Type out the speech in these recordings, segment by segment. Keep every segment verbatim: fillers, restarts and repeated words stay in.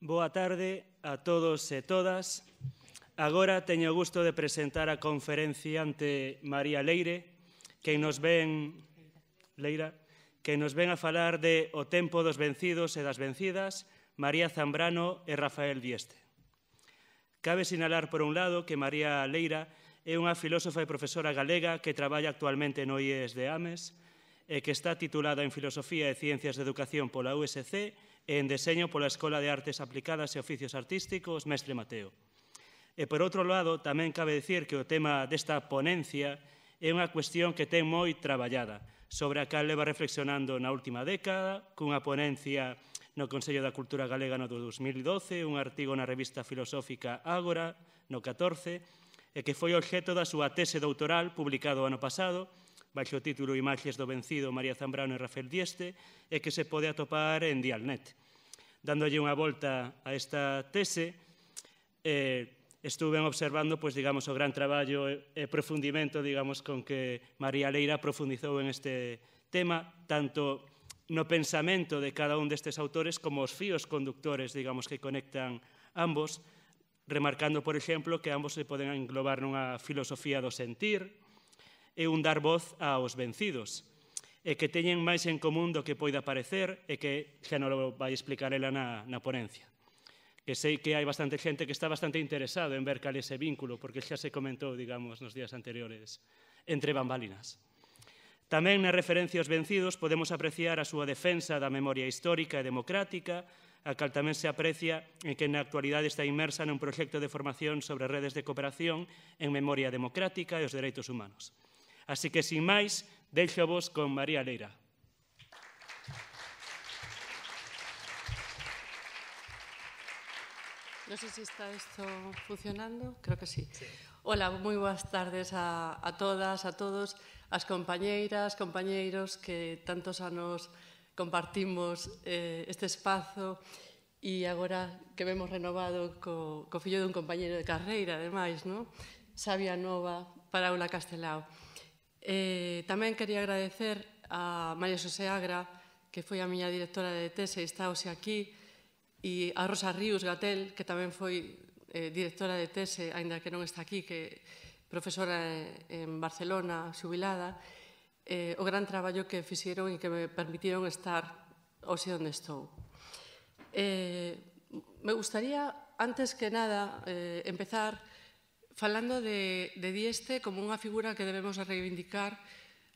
Boa tarde a todos e todas. Agora teño o gusto de presentar a conferenciante María Leire, que nos ven, Leira, que nos ven a falar de O tempo dos vencidos e das vencidas, María Zambrano e Rafael Dieste. Cabe sinalar, por un lado, que María Leira é unha filósofa e profesora galega que traballa actualmente no I E S de Ames e que está titulada en Filosofía e Ciencias de Educación pola U S C e en Deseño pola Escola de Artes Aplicadas e Oficios Artísticos Mestre Mateo. E, por outro lado, tamén cabe dicir que o tema desta ponencia é unha cuestión que ten moi traballada, sobre a cal leva reflexionando na última década, cunha ponencia no Consello da Cultura Galega no dos mil doce, un artigo na revista filosófica Ágora no catorce, e que foi obxeto da súa tese doutoral publicado ano pasado, baixo o título Imaxes do vencido, María Zambrano e Rafael Dieste, e que se pode atopar en Dialnet. Dándolle unha volta a esta tese, eh, estuve observando, pois, digamos, o gran traballo e profundimento, digamos, con que María Leira profundizou en este tema, tanto no pensamento de cada un destes autores como os fíos conductores, digamos, que conectan ambos, remarcando, por exemplo, que ambos se poden englobar nunha filosofía do sentir e un dar voz aos vencidos, e que teñen máis en común do que poida parecer e que xa non lo vai explicar ela na, na ponencia. Que sei que hai bastante xente que está bastante interesado en ver cal é ese vínculo, porque xa se comentou, digamos, nos días anteriores, entre bambalinas. Tamén na referencia aos vencidos podemos apreciar a súa defensa da memoria histórica e democrática, a cal tamén se aprecia en que na actualidade está inmersa nun proxecto de formación sobre redes de cooperación en memoria democrática e os dereitos humanos. Así que, sin máis, deixo vos con María Leira. Non sei se está isto funcionando, creo que sí. sí. Hola, moi boas tardes a, a todas, a todos, as compañeiras, compañeiros que tantos anos compartimos eh, este espazo e agora que vemos renovado co, co fillo dun compañeiro de carreira, ademais, non? Sabia Nova para Aula Castelao. Eh, tamén quería agradecer a María Xosé Agra, que foi a miña directora de tese e está hoxe aquí, e a Rosa Ríos Gatel, que tamén foi eh, directora de tese, aínda que non está aquí, que profesora en Barcelona, xubilada, eh, o gran traballo que fixeron e que me permitiron estar hoxe onde estou. Eh, me gustaría, antes que nada, eh, empezar falando de, de Dieste como unha figura que debemos reivindicar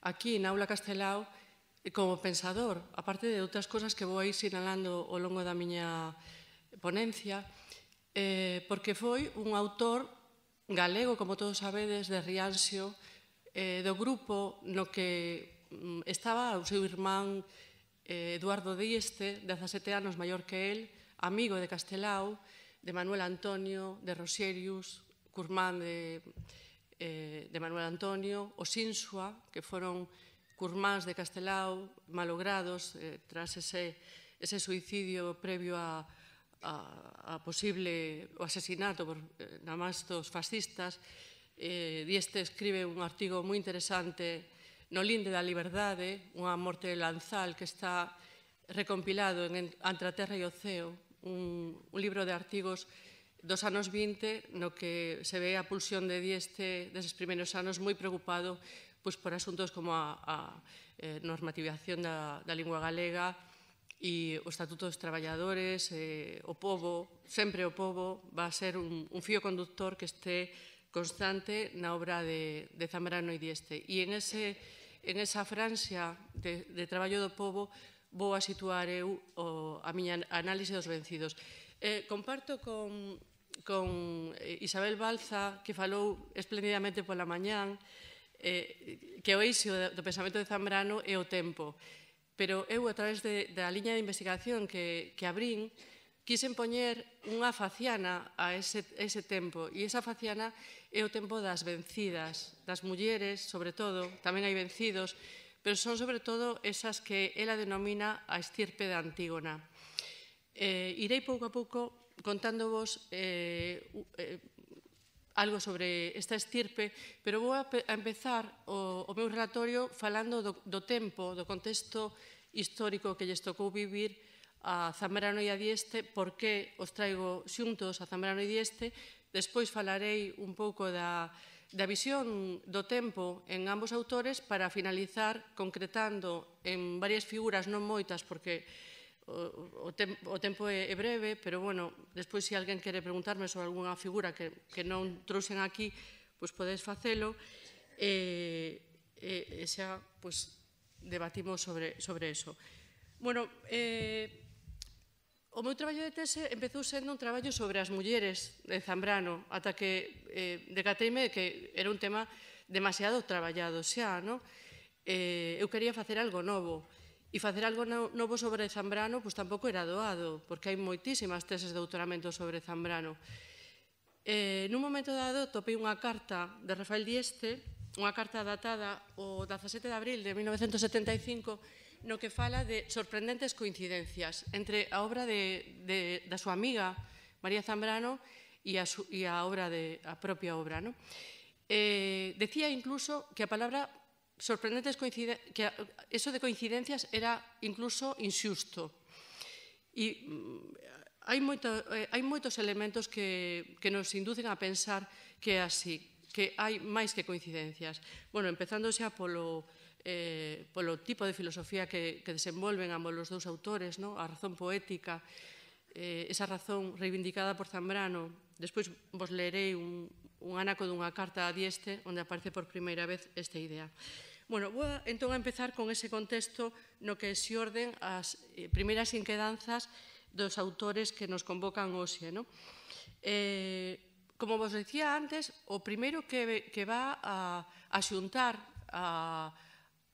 aquí na Aula Castelao como pensador, aparte de outras cosas que vou a ir sinalando ao longo da miña ponencia, eh, porque foi un autor galego, como todos sabedes, de Rianxo, eh, do grupo no que estaba o seu irmán eh, Eduardo Dieste, dezasete anos maior que el, amigo de Castelao, de Manuel Antonio, de Roserius, curmán de, eh, de Manuel Antonio, os Insua, que foron curmáns de Castelao, malogrados eh, tras ese, ese suicidio previo a, a, a posible o asesinato por, eh, na máis dos fascistas. Eh, Dieste escribe un artigo moi interesante no Linde da Liberdade, unha morte de Lanzal, que está recompilado en Entre a Terra e o Ceo, un, un libro de artigos dos anos vinte, no que se ve a pulsión de Dieste deses primeiros anos moi preocupado pois, por asuntos como a, a eh, normativación da, da lingua galega e o Estatuto dos Traballadores, eh, o pobo, sempre o pobo, va a ser un, un fío conductor que este constante na obra de, de Zambrano e Dieste. E en, ese, en esa franxa de, de traballo do pobo vou a situar eu o, a miña análise dos vencidos. Eh, comparto con, con Isabel Balza, que falou esplendidamente pola mañán, eh, que o eixo do pensamento de Zambrano é o tempo. Pero eu, a través de, da liña de investigación que, que abrín, quixen poñer unha faciana a ese, ese tempo. E esa faciana é o tempo das vencidas, das mulleres, sobre todo, tamén hai vencidos, pero son sobre todo esas que ela denomina a estirpe da Antígona. Eh, irei pouco a pouco contándovos eh, eh, algo sobre esta estirpe, pero vou a, a empezar o, o meu relatorio falando do, do tempo, do contexto histórico que lles tocou vivir a Zambrano e a Dieste, por que os traigo xuntos a Zambrano e Dieste. Despois falarei un pouco da, da visión do tempo en ambos autores para finalizar concretando en varias figuras, non moitas, porque o, o, tem, o tempo é, é breve, pero, bueno, despois se alguén quere preguntarme sobre algunha figura que, que non trouxen aquí, pois podedes facelo, e, e, e xa, pois, debatimos sobre, sobre eso. Bueno, eh, o meu traballo de tese empezou sendo un traballo sobre as mulleres de Zambrano, ata que eh, decateime que era un tema demasiado traballado xa, non? Eh, eu quería facer algo novo, e facer algo no, novo sobre Zambrano pois tampouco era doado, porque hai moitísimas teses de doutoramento sobre Zambrano. Eh, nun momento dado topei unha carta de Rafael Dieste, unha carta datada o dezasete de abril de mil novecentos setenta e cinco, no que fala de sorprendentes coincidencias entre a obra de, de, da súa amiga María Zambrano e a, su, e a, obra de, a propia obra. ¿No? Eh, decía incluso que a palabra sorprendentes coincidencias, que eso de coincidencias era incluso inxusto. E mm, hai, moito, eh, hai moitos elementos que, que nos inducen a pensar que é así, que hai máis que coincidencias. Bueno, empezando xa polo Eh, polo tipo de filosofía que, que desenvolven ambos os dous autores, no? A razón poética, eh, esa razón reivindicada por Zambrano. Despois vos lerei un, un ánaco dunha carta a Dieste onde aparece por primeira vez esta idea. Bueno, vou a, entón a empezar con ese contexto no que se orden as eh, primeiras inquedanzas dos autores que nos convocan hoxe. No? Eh, como vos decía antes, o primeiro que, que va a, a xuntar a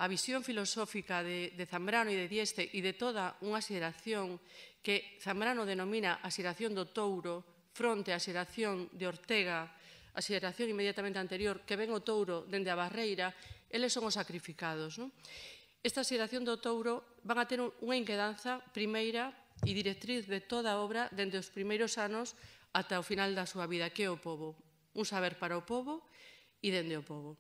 a visión filosófica de, de Zambrano e de Dieste e de toda unha xeración que Zambrano denomina a xeración do Touro fronte á xeración de Ortega, a xeración inmediatamente anterior, que ven o Touro dende a Barreira, eles son os sacrificados. Non? Esta xeración do Touro van a ter unha inquedanza primeira e directriz de toda a obra dende os primeiros anos ata o final da súa vida, que é o pobo. Un saber para o pobo e dende o pobo.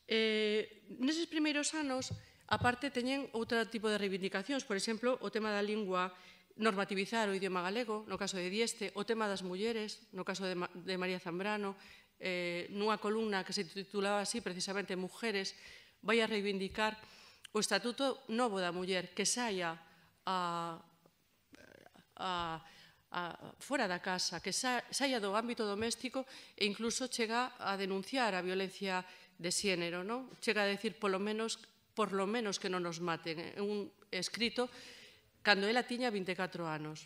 Eh, neses primeiros anos, aparte, teñen outro tipo de reivindicacións, por exemplo, o tema da lingua, normativizar o idioma galego, no caso de Dieste, o tema das mulleres, no caso de, Ma de María Zambrano, eh, nunha columna que se titulaba así, precisamente, Mujeres, vai a reivindicar o Estatuto Novo da Muller, que saia a, a, a, fora da casa, que sa, saia do ámbito doméstico e incluso chega a denunciar a violencia de xénero, non? Chega a decir, polo menos, por lo menos que non nos maten. É un escrito cando ela tiña vinte e catro anos.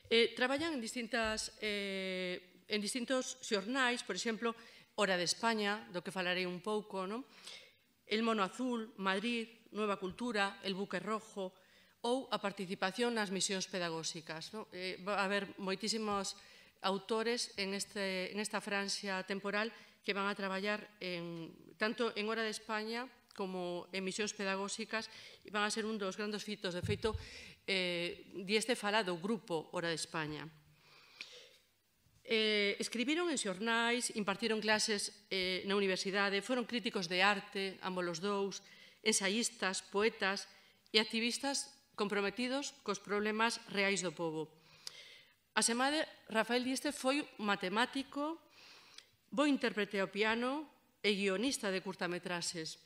Eh, traballan en, distintas, eh, en distintos xornais, por exemplo, Hora de España, do que falarei un pouco, non? El Mono Azul, Madrid, Nueva Cultura, El Buque Rojo, ou a participación nas misións pedagóxicas. Non? Eh, va a haber moitísimos autores en, este, en esta franxa temporal que van a traballar en, tanto en Hora de España como en misións pedagóxicas e van a ser un dos grandes fitos. De feito, eh, Dieste fala do grupo Hora de España. Eh, escribiron en xornais, impartiron clases eh, na universidade, foron críticos de arte, ambos os dous, ensayistas, poetas e activistas comprometidos cos problemas reais do pobo. Asemade, Rafael Dieste foi matemático, bo intérprete ao piano e guionista de curtametraxes.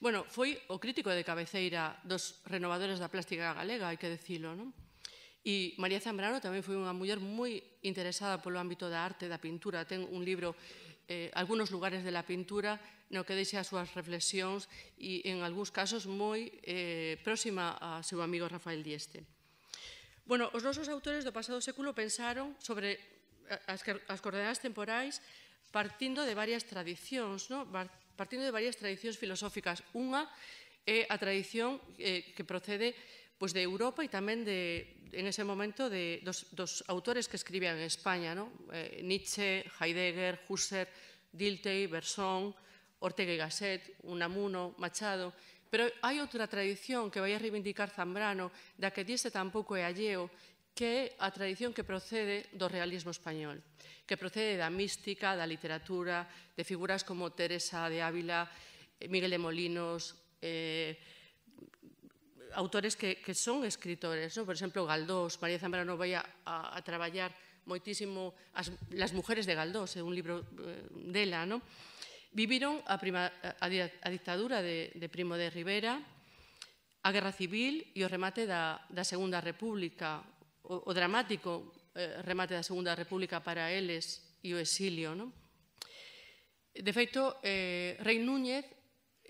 Bueno, foi o crítico de cabeceira dos renovadores da plástica galega, hai que dicilo, non? E María Zambrano tamén foi unha muller moi interesada polo ámbito da arte, da pintura. Ten un libro, eh, Algunos lugares de la pintura, no que deixa as súas reflexións e, en algúns casos, moi eh, próxima a seu amigo Rafael Dieste. Bueno, os nosos autores do pasado século pensaron sobre as, as coordenadas temporais partindo de varias tradicións, no? partindo de varias tradicións filosóficas. Unha é a tradición eh, que procede pois, de Europa e tamén de, en ese momento de, dos, dos autores que escribían en España, no? eh, Nietzsche, Heidegger, Husserl, Dilthey, Bergson, Ortega y Gasset, Unamuno, Machado. Pero hai outra tradición que vai a reivindicar Zambrano, da que Dieste tampouco é alleo, que é a tradición que procede do realismo español, que procede da mística, da literatura, de figuras como Teresa de Ávila, Miguel de Molinos, eh, autores que, que son escritores, ¿no? Por exemplo, Galdós, María Zambrano vai a, a, a traballar moitísimo as, las mujeres de Galdós, é un libro eh, dela, ¿no? Viviron a, prima, a, a dictadura de, de Primo de Rivera, a Guerra Civil e o remate da, da Segunda República, o, o dramático eh, remate da Segunda República para eles e o exilio, ¿no? De feito, eh, Rei Núñez,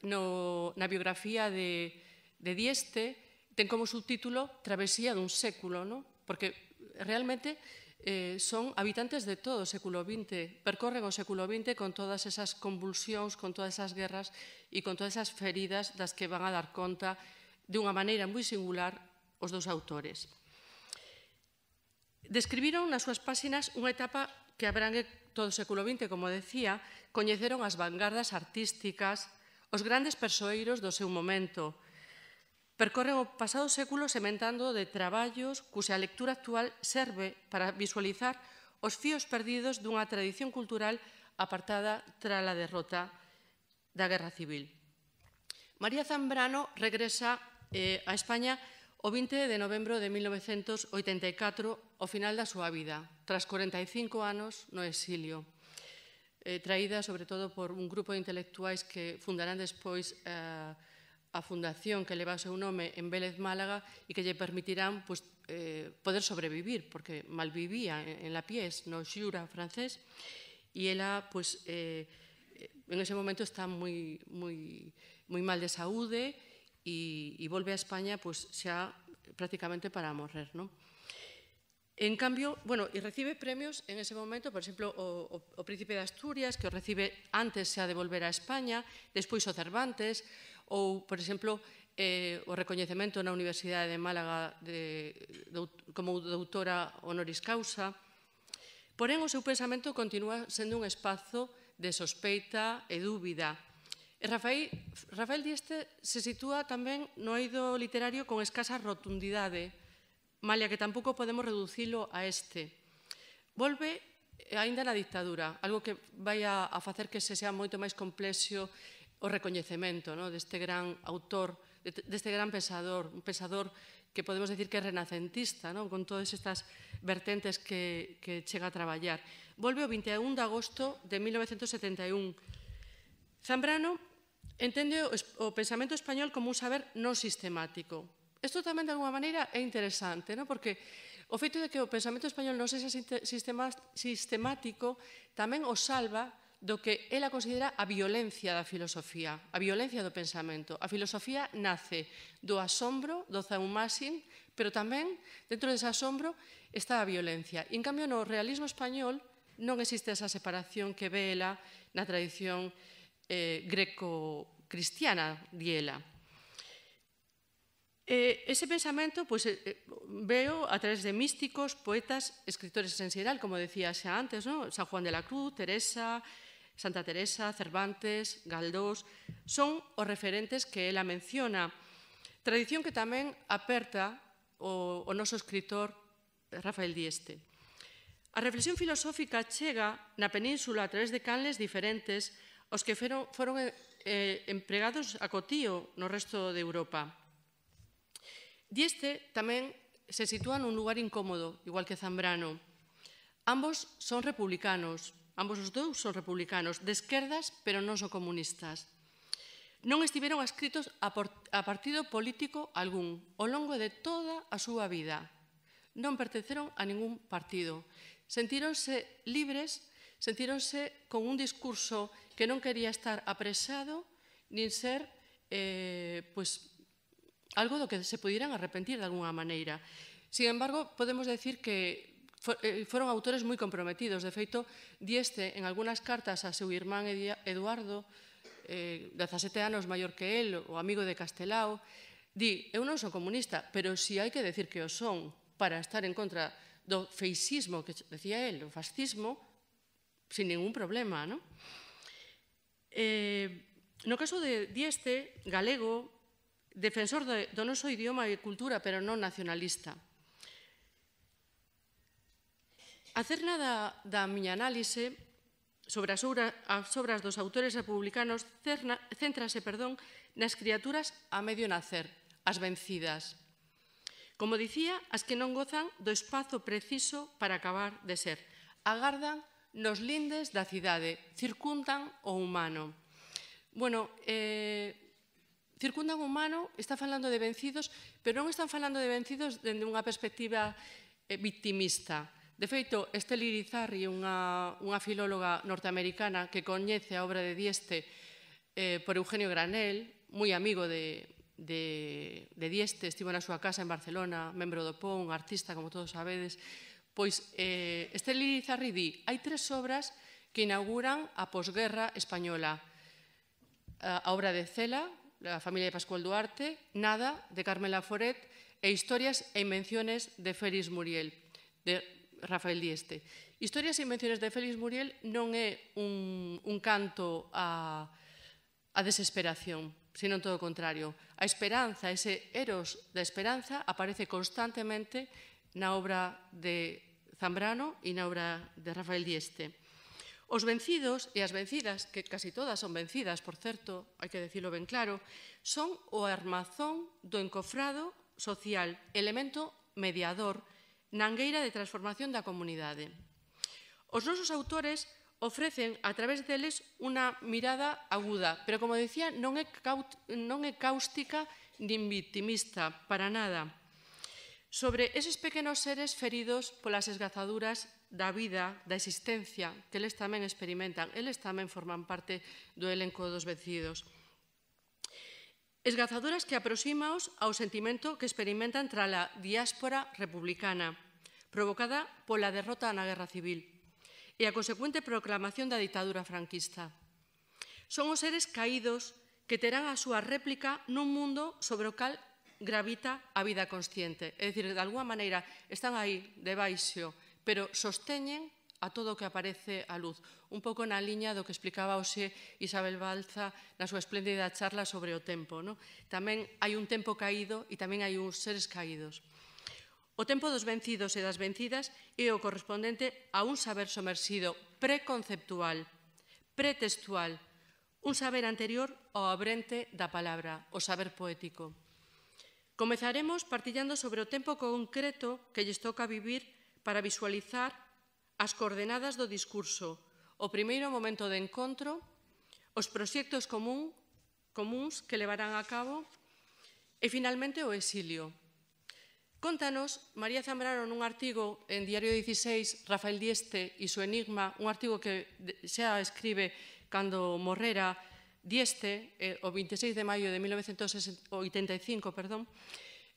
no, na biografía de, de Dieste, ten como subtítulo Travesía dun século, ¿no? Porque realmente eh, son habitantes de todo o século vinte, percorren o século vinte con todas esas convulsións, con todas esas guerras e con todas esas feridas das que van a dar conta de unha maneira moi singular os dous autores. Describiron nas súas páxinas unha etapa que abrangue todo o século vinte, como decía, coñeceron as vanguardas artísticas, os grandes persoeiros do seu momento. Percorren o pasado século sementando de traballos cuxa lectura actual serve para visualizar os fíos perdidos dunha tradición cultural apartada tras a derrota da Guerra Civil. María Zambrano regresa eh, a España o vinte de novembro de mil novecentos oitenta e catro, ao final da súa vida, tras corenta e cinco anos no exilio, eh, traída sobre todo por un grupo de intelectuais que fundarán despois eh, a fundación que leva o seu nome en Vélez, Málaga, e que lle permitirán pues, eh, poder sobrevivir, porque malvivía en, en la Pies, no Xura francés, e ela, pues, eh, en ese momento está moi, moi, moi mal de saúde, e, e volve a España pues, xa prácticamente para morrer, ¿no? En cambio, bueno, e recibe premios en ese momento, por exemplo, o, o, o Príncipe de Asturias, que o recibe antes xa de volver a España, despois o Cervantes, ou, por exemplo, eh, o recoñecemento na Universidade de Málaga de, de, como doutora honoris causa. Porén, o seu pensamento continúa sendo un espazo de sospeita e dúbida. E Rafael, Rafael Dieste se sitúa tamén no eido literario con escasa rotundidade, malia que tampouco podemos reducilo a este. Volve aínda na dictadura, algo que vai a, a facer que se sea moito máis complexo o recoñecemento, no, deste gran autor, deste gran pensador, un pensador que podemos decir que é renacentista, no, con todas estas vertentes que, que chega a traballar. Volve o vinte e un de agosto de mil novecentos setenta e un. Zambrano entende o pensamento español como un saber non sistemático. Isto tamén, de alguma maneira, é interesante, ¿no? Porque o feito de que o pensamento español non sexa sistemático tamén o salva do que ela considera a violencia da filosofía, a violencia do pensamento. A filosofía nace do asombro, do zaumásin, pero tamén, dentro dese asombro, está a violencia. E, en cambio, no realismo español non existe esa separación que ve ela na tradición eh, greco-cristiana, diela. Eh, ese pensamento pues, eh, veo a través de místicos, poetas, escritores en xeral, como decía xa antes, ¿no? San Juan de la Cruz, Teresa, Santa Teresa, Cervantes, Galdós, son os referentes que ela menciona. Tradición que tamén aperta o, o noso escritor Rafael Dieste. A reflexión filosófica chega na península a través de canles diferentes os que foron, foron eh, empregados a cotío no resto de Europa. Dieste tamén se sitúa nun lugar incómodo, igual que Zambrano. Ambos son republicanos, ambos os dous son republicanos, de esquerdas, pero non son comunistas. Non estiveron adscritos a, a partido político algún ao longo de toda a súa vida. Non pertenceron a ningún partido. Sentíronse libres, sentíronse con un discurso que non quería estar apresado, nin ser, eh, pues, algo do que se pudieran arrepentir de alguna maneira. Sin embargo, podemos decir que foron autores moi comprometidos. De feito, Dieste, en algunhas cartas a seu irmán Eduardo, eh, dezasete anos maior que el, o amigo de Castelao, di, eu non son comunista, pero si hai que decir que o son para estar en contra do feixismo, que decía el, o fascismo, sin ningún problema, non? Eh, no caso de Dieste, galego, defensor do noso idioma e cultura, pero non nacionalista. A cerna da, da miña análise sobre as, obra, as obras dos autores republicanos cerna, céntrase, perdón, nas criaturas a medio nacer, as vencidas. Como dicía, as que non gozan do espazo preciso para acabar de ser. Agardan nos lindes da cidade, circundan o humano. Bueno, eh, circundan o humano, está falando de vencidos, pero non están falando de vencidos dende unha perspectiva eh, victimista. De feito, Estelle Irizarry, unha, unha filóloga norteamericana que coñece a obra de Dieste eh, por Eugenio Granell, moi amigo de, de, de Dieste, estivo na súa casa en Barcelona, membro do P O, un artista, como todos sabedes, pois eh, Estelle Irizarry di, hai tres obras que inauguran a posguerra española. A obra de Cela, la familia de Pascual Duarte, Nada, de Carmela Foret, e Historias e invenciones de Félix Muriel, de Rafael Dieste. Historias e invenciones de Félix Muriel non é un, un canto a, a desesperación, sino todo o contrario. A esperanza, ese eros da esperanza, aparece constantemente na obra de Zambrano e na obra de Rafael Dieste. Os vencidos e as vencidas, que casi todas son vencidas, por certo, hai que decirlo ben claro, son o armazón do encofrado social, elemento mediador na angueira de transformación da comunidade. Os nosos autores ofrecen a través deles unha mirada aguda, pero, como decía, non é, non é cáustica nin victimista, para nada, sobre eses pequenos seres feridos polas esgazaduras da vida, da existencia, que eles tamén experimentan. Eles tamén forman parte do elenco dos vencidos. Esgazaduras que aproximaos ao sentimento que experimentan tras a diáspora republicana, provocada pola derrota na Guerra Civil e a consecuente proclamación da ditadura franquista. Son os seres caídos que terán a súa réplica nun mundo sobre o cal gravita a vida consciente. É dicir, de alguma maneira están aí debaixo, pero sosteñen a todo o que aparece á luz. Un pouco na liña do que explicaba hoxe Isabel Balza na súa espléndida charla sobre o tempo. No? Tamén hai un tempo caído e tamén hai uns seres caídos. O tempo dos vencidos e das vencidas é o correspondente a un saber somersido preconceptual, pretextual, un saber anterior ao abrente da palabra, o saber poético. Comezaremos partillando sobre o tempo concreto que lles toca vivir para visualizar as coordenadas do discurso, o primeiro momento de encontro, os proxectos común, comuns que levarán a cabo e, finalmente, o exilio. Contanos María Zambrano nun artigo en Diario dieciséis, Rafael Dieste e su enigma, un artigo que xa escribe cando morrera Dieste, eh, o veintiséis de maio de mil novecentos oitenta e cinco, perdón,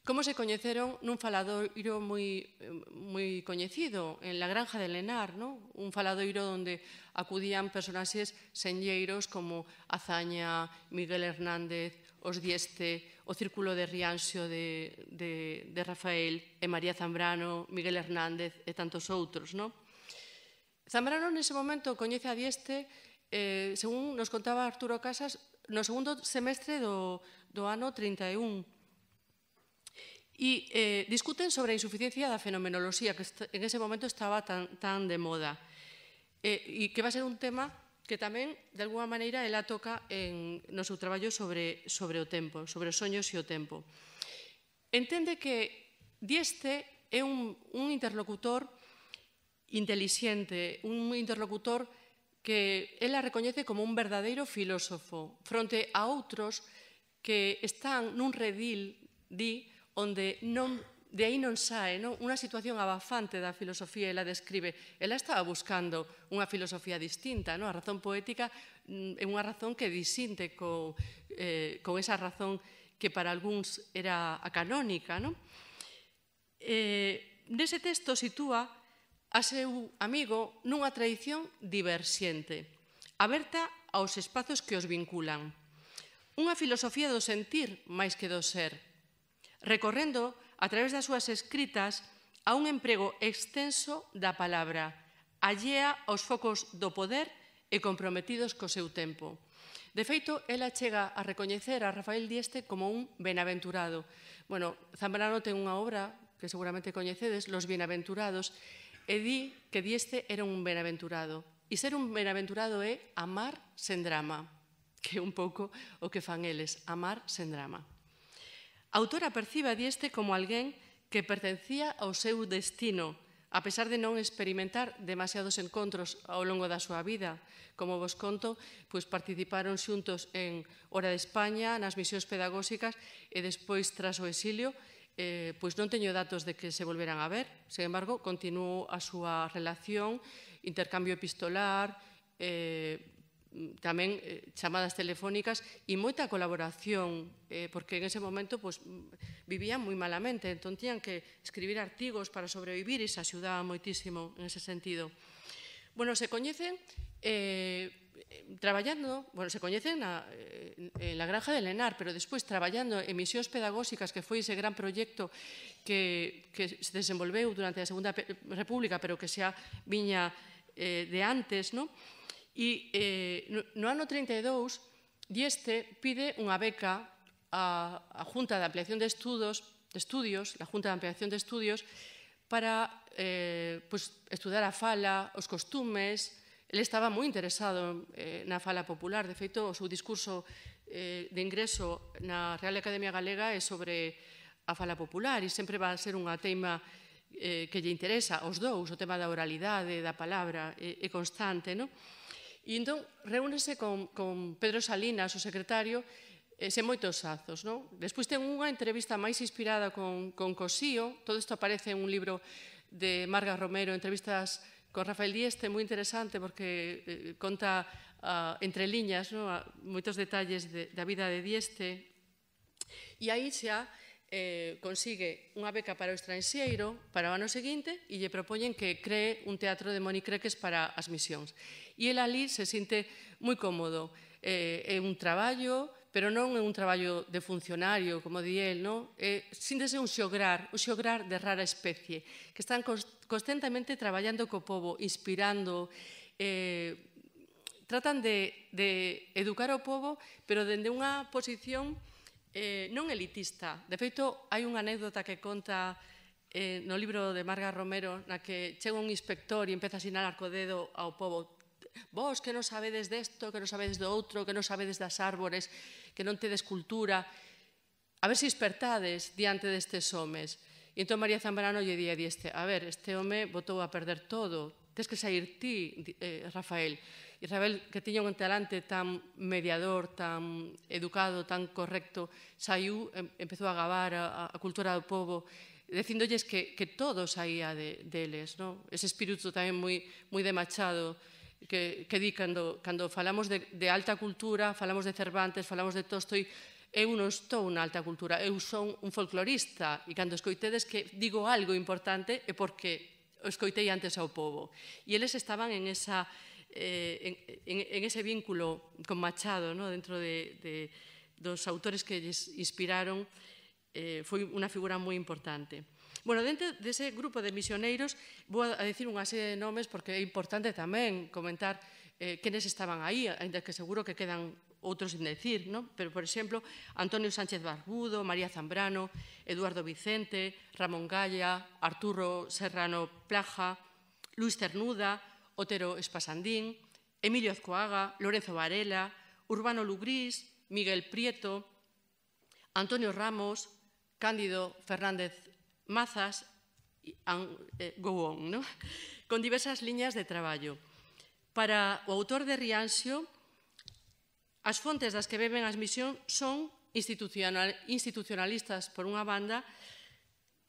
como se coñeceron nun faladoiro moi, moi coñecido, en la granja de Lenar, ¿no? Un faladoiro onde acudían personaxes senlleiros como Azaña, Miguel Hernández, os Dieste, o Círculo de Rianxo de, de, de Rafael, e María Zambrano, Miguel Hernández e tantos outros, ¿no? Zambrano nese momento coñece a Dieste, eh, según nos contaba Arturo Casas, no segundo semestre do, do ano trinta e un. E eh, discuten sobre a insuficiencia da fenomenoloxía, que en ese momento estaba tan, tan de moda, eh, e que va a ser un tema que tamén, de alguma maneira, ela toca en, no seu traballo sobre, sobre o tempo, sobre os soños e o tempo. Entende que Dieste é un, un interlocutor intelixente, un interlocutor que ela recoñece como un verdadeiro filósofo, fronte a outros que están nun redil, di, onde non, de aí non sae, non? Unha situación abafante da filosofía, ela describe. Ela estaba buscando unha filosofía distinta, non? A razón poética é unha razón que disinte con, eh, con esa razón que para algúns era a canónica, non? Eh, nese texto sitúa a seu amigo nunha tradición diverxente, aberta aos espazos que os vinculan. Unha filosofía do sentir máis que do ser, recorrendo a través das súas escritas a un emprego extenso da palabra, allea aos focos do poder e comprometidos co seu tempo. De feito, ela chega a recoñecer a Rafael Dieste como un benaventurado. Bueno, Zambrano ten unha obra que seguramente coñecedes, Los Bienaventurados, e di que Dieste era un benaventurado. E ser un benaventurado é amar sen drama, que é un pouco o que fan eles, amar sen drama. A autora percibe a Dieste como alguén que pertencía ao seu destino, a pesar de non experimentar demasiados encontros ao longo da súa vida. Como vos conto, pois participaron xuntos en Hora de España, nas misións pedagóxicas, e despois, tras o exilio, eh, pois non teño datos de que se volveran a ver. Sin embargo, continuou a súa relación, intercambio epistolar, eh, tamén eh, chamadas telefónicas e moita colaboración, eh, porque en ese momento pues, vivían moi malamente, entón tiñan que escribir artigos para sobrevivir e se axudaba moitísimo en ese sentido. Bueno, se coñecen eh, traballando, bueno, se coñecen na, en la granja de Lenar, pero despois traballando en misións pedagóxicas, que foi ese gran proxecto que, que se desenvolveu durante a Segunda República, pero que xa viña eh, de antes, non? E eh, no ano trinta e dous, Dieste pide unha beca á, á Junta de Ampliación de Estudos, de Estudios, a Junta de Ampliación de Estudios, para eh, pues, estudar a fala, os costumes. Ele estaba moi interesado eh, na fala popular. De feito, o seu discurso eh, de ingreso na Real Academia Galega é sobre a fala popular e sempre va a ser unha teima eh, que lle interesa aos dous, o tema da oralidade, da palabra, é, é constante, non? E entón, reúnese con, con Pedro Salinas, o secretario, e sen moitos azos, non? Despois ten unha entrevista máis inspirada con, con Cosío, todo isto aparece en un libro de Marga Romero, entrevistas con Rafael Dieste, moi interesante porque eh, conta uh, entre liñas, non? Moitos detalles de, da vida de Dieste, e aí xa eh, consigue unha beca para o estranxeiro para o ano seguinte e lle propoñen que cree un teatro de monicreques para as misións. E ele ali se sinte moi cómodo. Eh, é un traballo, pero non é un traballo de funcionario, como di el, non? Eh, síntese un xograr, un xograr de rara especie, que están constantemente traballando co povo, inspirando, eh, tratan de, de educar o povo, pero dende unha posición eh, non elitista. De feito, hai unha anécdota que conta eh, no libro de Marga Romero, na que chega un inspector e empeza a sinalar co dedo ao povo: vos que non sabedes desto, que non sabedes do outro, que non sabedes das árbores, que non tedes cultura, a ver se despertades diante destes homes. E entón María Zambrano lle di a Dieste: a ver, este home botou a perder todo, tes que sair ti, eh, Rafael. E Rafael, que tiña un talante tan mediador, tan educado, tan correcto, saiu, empezou a gabar a, a cultura do povo, dicindolles que, que todo saía de, deles, no? Ese espírito tamén moi, moi de Machado, que, que di cando, cando falamos de, de alta cultura, falamos de Cervantes, falamos de Tolstoi, eu non estou na alta cultura, eu son un folclorista, e cando escoitedes que digo algo importante é porque o escoitei antes ao povo. E eles estaban en, esa, eh, en, en ese vínculo con Machado, no? Dentro de, de, dos autores que lles inspiraron, eh, foi unha figura moi importante. Bueno, dentro dese grupo de misioneiros vou a decir unha serie de nomes porque é importante tamén comentar eh, quenes estaban aí, ainda que seguro que quedan outros sin decir, ¿no? Pero, por exemplo, Antonio Sánchez Barbudo, María Zambrano, Eduardo Vicente, Ramón Galla, Arturo Serrano Plaja, Luis Cernuda, Otero Espasandín, Emilio Azcoaga, Lorenzo Varela, Urbano Lugrís, Miguel Prieto, Antonio Ramos, Cándido Fernández Mazas, eh, go on, ¿no? Con diversas liñas de traballo. Para o autor de Rianxo, as fontes das que beben as misións son institucional, institucionalistas, por unha banda,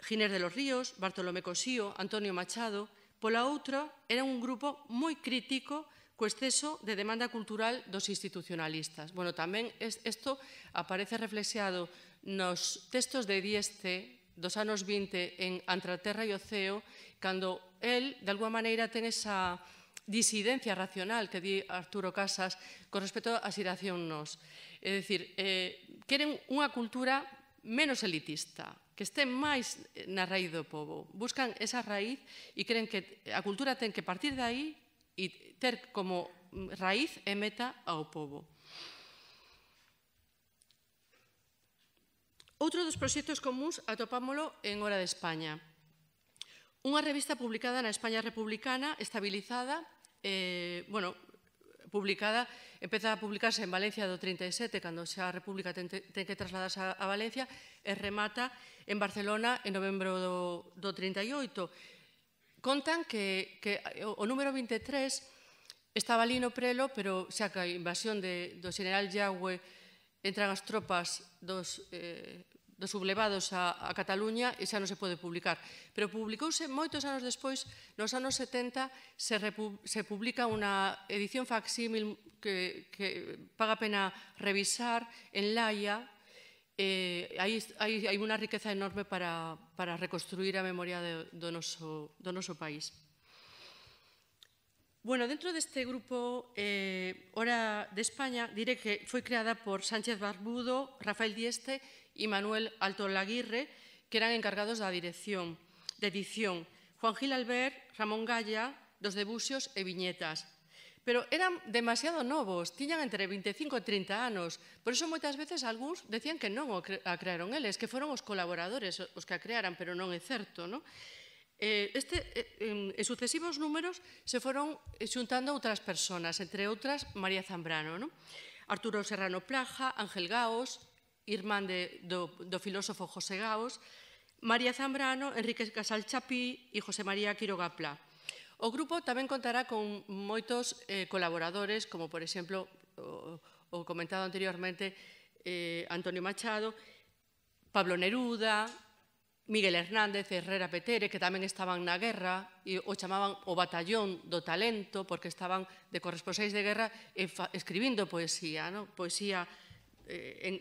Ginés de los Ríos, Bartolomé Cosío, Antonio Machado. Pola outra, era un grupo moi crítico co exceso de demanda cultural dos institucionalistas. Bueno, tamén isto aparece reflexeado nos textos de Dieste dos anos vinte en Entre a Terra e o Ceo, cando el, de alguma maneira, ten esa disidencia racional que di Arturo Casas con respecto á xeración nos. É dicir, eh, queren unha cultura menos elitista, que este máis na raíz do povo. Buscan esa raíz e creen que a cultura ten que partir de aí e ter como raíz e meta ao povo. Outro dos proxectos comuns atopámolo en Hora de España. Unha revista publicada na España republicana, estabilizada, eh, bueno, publicada, empeza a publicarse en Valencia do trinta e sete, cando xa a República ten, ten que trasladarse a Valencia, e remata en Barcelona en novembro do, do trinta e oito. Contan que, que o número vinte e tres estaba ali no prelo, pero xa que a invasión de, do general Yagüe entran as tropas dos... Eh, dos sublevados a, a Cataluña e xa non se pode publicar. Pero publicouse moitos anos despois, nos anos setenta, se, repu, se publica unha edición facsímil que, que paga pena revisar en Laia. Eh, hai, hai, hai unha riqueza enorme para, para reconstruir a memoria de, do, noso, do noso país. Bueno, dentro deste grupo eh, Hora de España, diré que foi creada por Sánchez Barbudo, Rafael Dieste e Manuel Alto Laguirre, que eran encargados da dirección, de edición. Juan Gil Albert, Ramón Galla, dos debuxios e viñetas. Pero eran demasiado novos, tiñan entre vinte e cinco e trinta anos. Por iso moitas veces algúns decían que non a crearon eles, que foron os colaboradores os que a crearan, pero non é certo, non? Este, en sucesivos números se foron xuntando outras persoas, entre outras María Zambrano, non? Arturo Serrano Plaja, Ángel Gaos, irmán de, do, do filósofo José Gaos, María Zambrano, Enrique Casal Chapí e José María Quiroga Pla. O grupo tamén contará con moitos eh, colaboradores, como, por exemplo, o, o comentado anteriormente, eh, Antonio Machado, Pablo Neruda, Miguel Hernández, Herrera Petere, que tamén estaban na guerra, e o chamaban o batallón do talento, porque estaban de corresponsáis de guerra e fa, escribindo poesía, no? Poesía eh, en,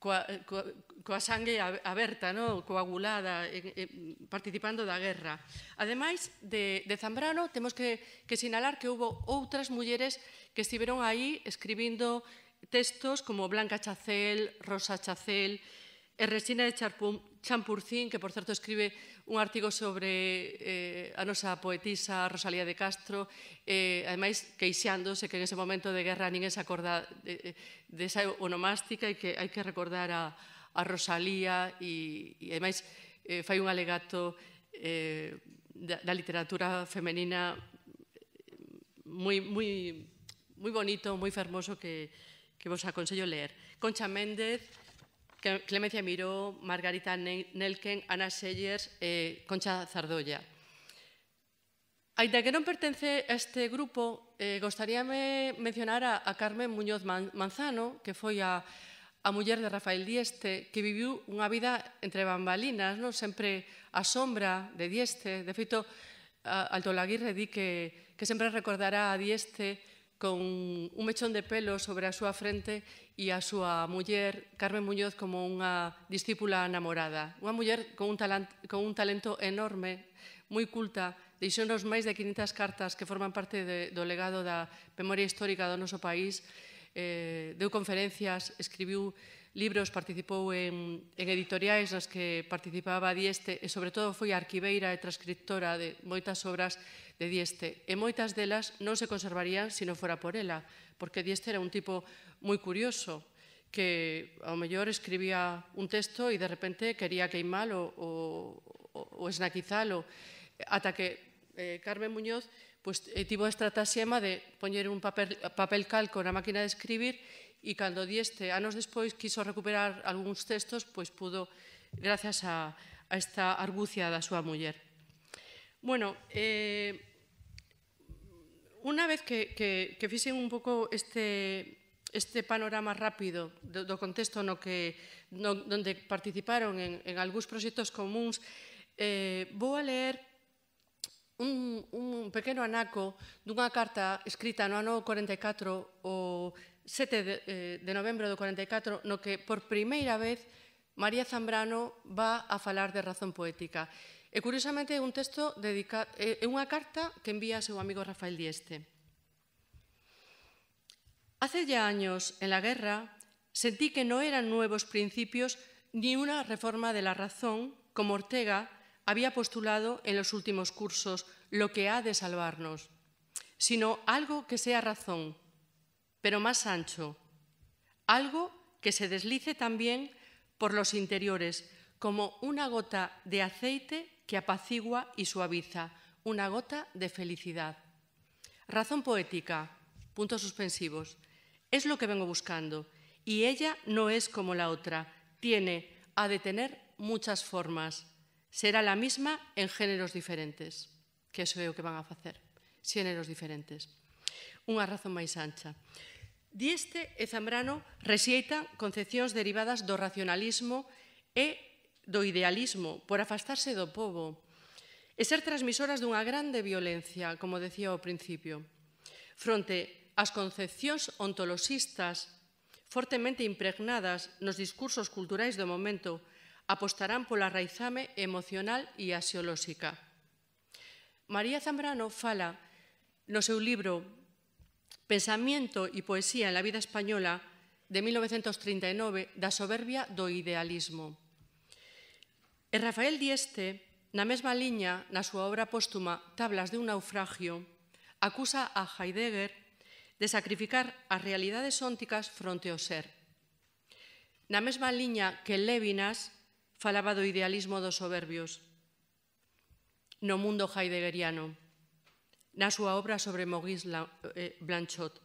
coa, coa, coa sangue aberta, no? Coagulada, en, en, participando da guerra. Ademais de, de Zambrano, temos que, que sinalar que houve outras mulleres que estiveron aí escribindo textos como Blanca Chacel, Rosa Chacel, e Resina de Champurcín, que, por certo, escribe un artigo sobre eh, a nosa poetisa Rosalía de Castro, eh, ademais queixándose que en ese momento de guerra ninguén se acorda de, de esa onomástica e que hai que recordar a, a Rosalía e, e ademais eh, fai un alegato eh, da, da literatura femenina moi, moi, moi bonito, moi fermoso que, que vos aconsello ler. Concha Méndez, Clemencia Miró, Margarita Nelken, Ana Sellers e Concha Zardolla. Ainda que non pertence a este grupo, eh, gostaríame mencionar a, a Carmen Muñoz Manzano, que foi a, a muller de Rafael Dieste, que viviu unha vida entre bambalinas, no? Sempre a sombra de Dieste. De feito, Alto Laguirre di que, que sempre recordará a Dieste con un mechón de pelo sobre a súa frente e a súa muller, Carmen Muñoz, como unha discípula namorada. Unha muller con un, talent, con un talento enorme, moi culta, deixounos máis de quinientas cartas que forman parte de, do legado da memoria histórica do noso país, eh, deu conferencias, escribiu libros, participou en, en editoriais nas que participaba Dieste e, sobre todo, foi arquiveira e transcriptora de moitas obras de Dieste. E moitas delas non se conservarían se non fora por ela, porque Dieste era un tipo moi curioso, que ao mellor escribía un texto e de repente quería queimalo ou, ou esnaquizalo, ata que eh, Carmen Muñoz pues, eh, tivo a estrataxema de poñer un papel, papel calco na máquina de escribir e cando Dieste, anos despois, quiso recuperar algúns textos, pois pudo, gracias a, a esta argucia da súa muller. Bueno, eh, unha vez que, que, que fixen un pouco este, este panorama rápido do, do contexto no que, no, donde participaron en, en algúns proxectos comuns, eh, vou a leer un, un pequeno anaco dunha carta escrita no ano corenta e catro, o sete de, eh, de novembro do corenta e catro, no que por primeira vez María Zambrano va a falar de razón poética. E, curiosamente, é un texto dedicado, é unha carta que envía a seu amigo Rafael Dieste. Hace ya años, en la guerra, sentí que no eran nuevos principios ni una reforma de la razón, como Ortega había postulado en los últimos cursos, lo que ha de salvarnos, sino algo que sea razón, pero más ancho, algo que se deslice también por los interiores, como una gota de aceite que apacigua y suaviza, una gota de felicidad. Razón poética, puntos suspensivos. Es lo que vengo buscando. Y ella no es como la otra. Tiene, ha de tener muchas formas. Será la misma en géneros diferentes. Que eso é o que van a facer. Xéneros diferentes. Unha razón máis ancha. Dieste e Zambrano rexeitan concepcións derivadas do racionalismo e do idealismo por afastarse do pobo e ser transmisoras dunha grande violencia, como decía ao principio. Fronte ás concepcións ontoloxistas fortemente impregnadas nos discursos culturais do momento, apostarán pola raizame emocional e axiolóxica. María Zambrano fala no seu libro Pensamiento e poesía en la vida española de mil novecentos trinta e nove da soberbia do idealismo. E Rafael Dieste, na mesma liña, na súa obra póstuma Tablas de un naufragio, acusa a Heidegger de sacrificar as realidades ónticas fronte ao ser. Na mesma liña que Lévinas falaba do idealismo dos soberbios no mundo heideggeriano, na súa obra sobre Maurice Blanchot,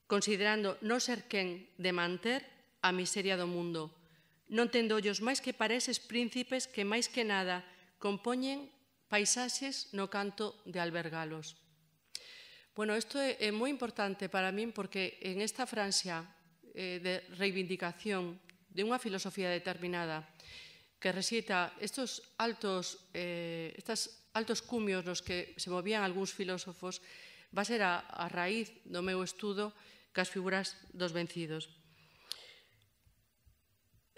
considerando non ser quen de manter a miseria do mundo, non tendo ollos máis que para eses príncipes que máis que nada compoñen paisaxes no canto de albergalos. Bueno, isto é, é moi importante para min porque en esta Francia eh, de reivindicación de unha filosofía determinada que rexeita estos altos, eh, estas altos cumios nos que se movían algúns filósofos, va a ser a, a raíz do meu estudo cas figuras dos vencidos.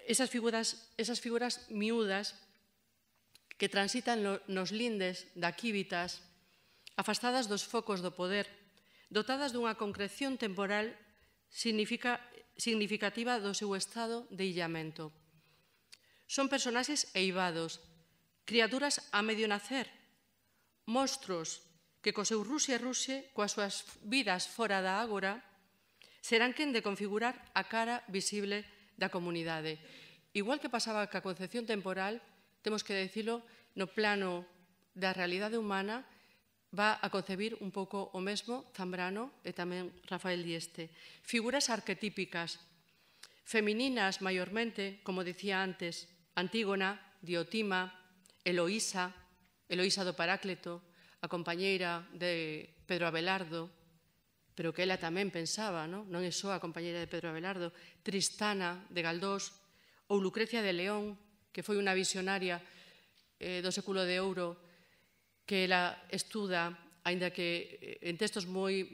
Esas figuras, esas figuras miúdas que transitan no, nos lindes da quívitas, afastadas dos focos do poder, dotadas dunha concreción temporal significa, significativa do seu estado de illamento. Son personaxes eivados, criaturas a medio nacer, monstruos que co seu ruxe e ruxe, coas súas vidas fora da ágora, serán quen de configurar a cara visible da comunidade. Igual que pasaba ca concepción temporal, temos que dicilo, no plano da realidade humana, va a concebir un pouco o mesmo Zambrano e tamén Rafael Dieste. Figuras arquetípicas, femininas maiormente, como dicía antes, Antígona, Diotima, Eloísa, Eloísa do Paráclito, a compañeira de Pedro Abelardo, pero que ela tamén pensaba, non, non é só a compañeira de Pedro Abelardo, Tristana de Galdós, ou Lucrecia de León, que foi unha visionaria eh, do século de ouro, que ela estuda, aínda que en textos moi,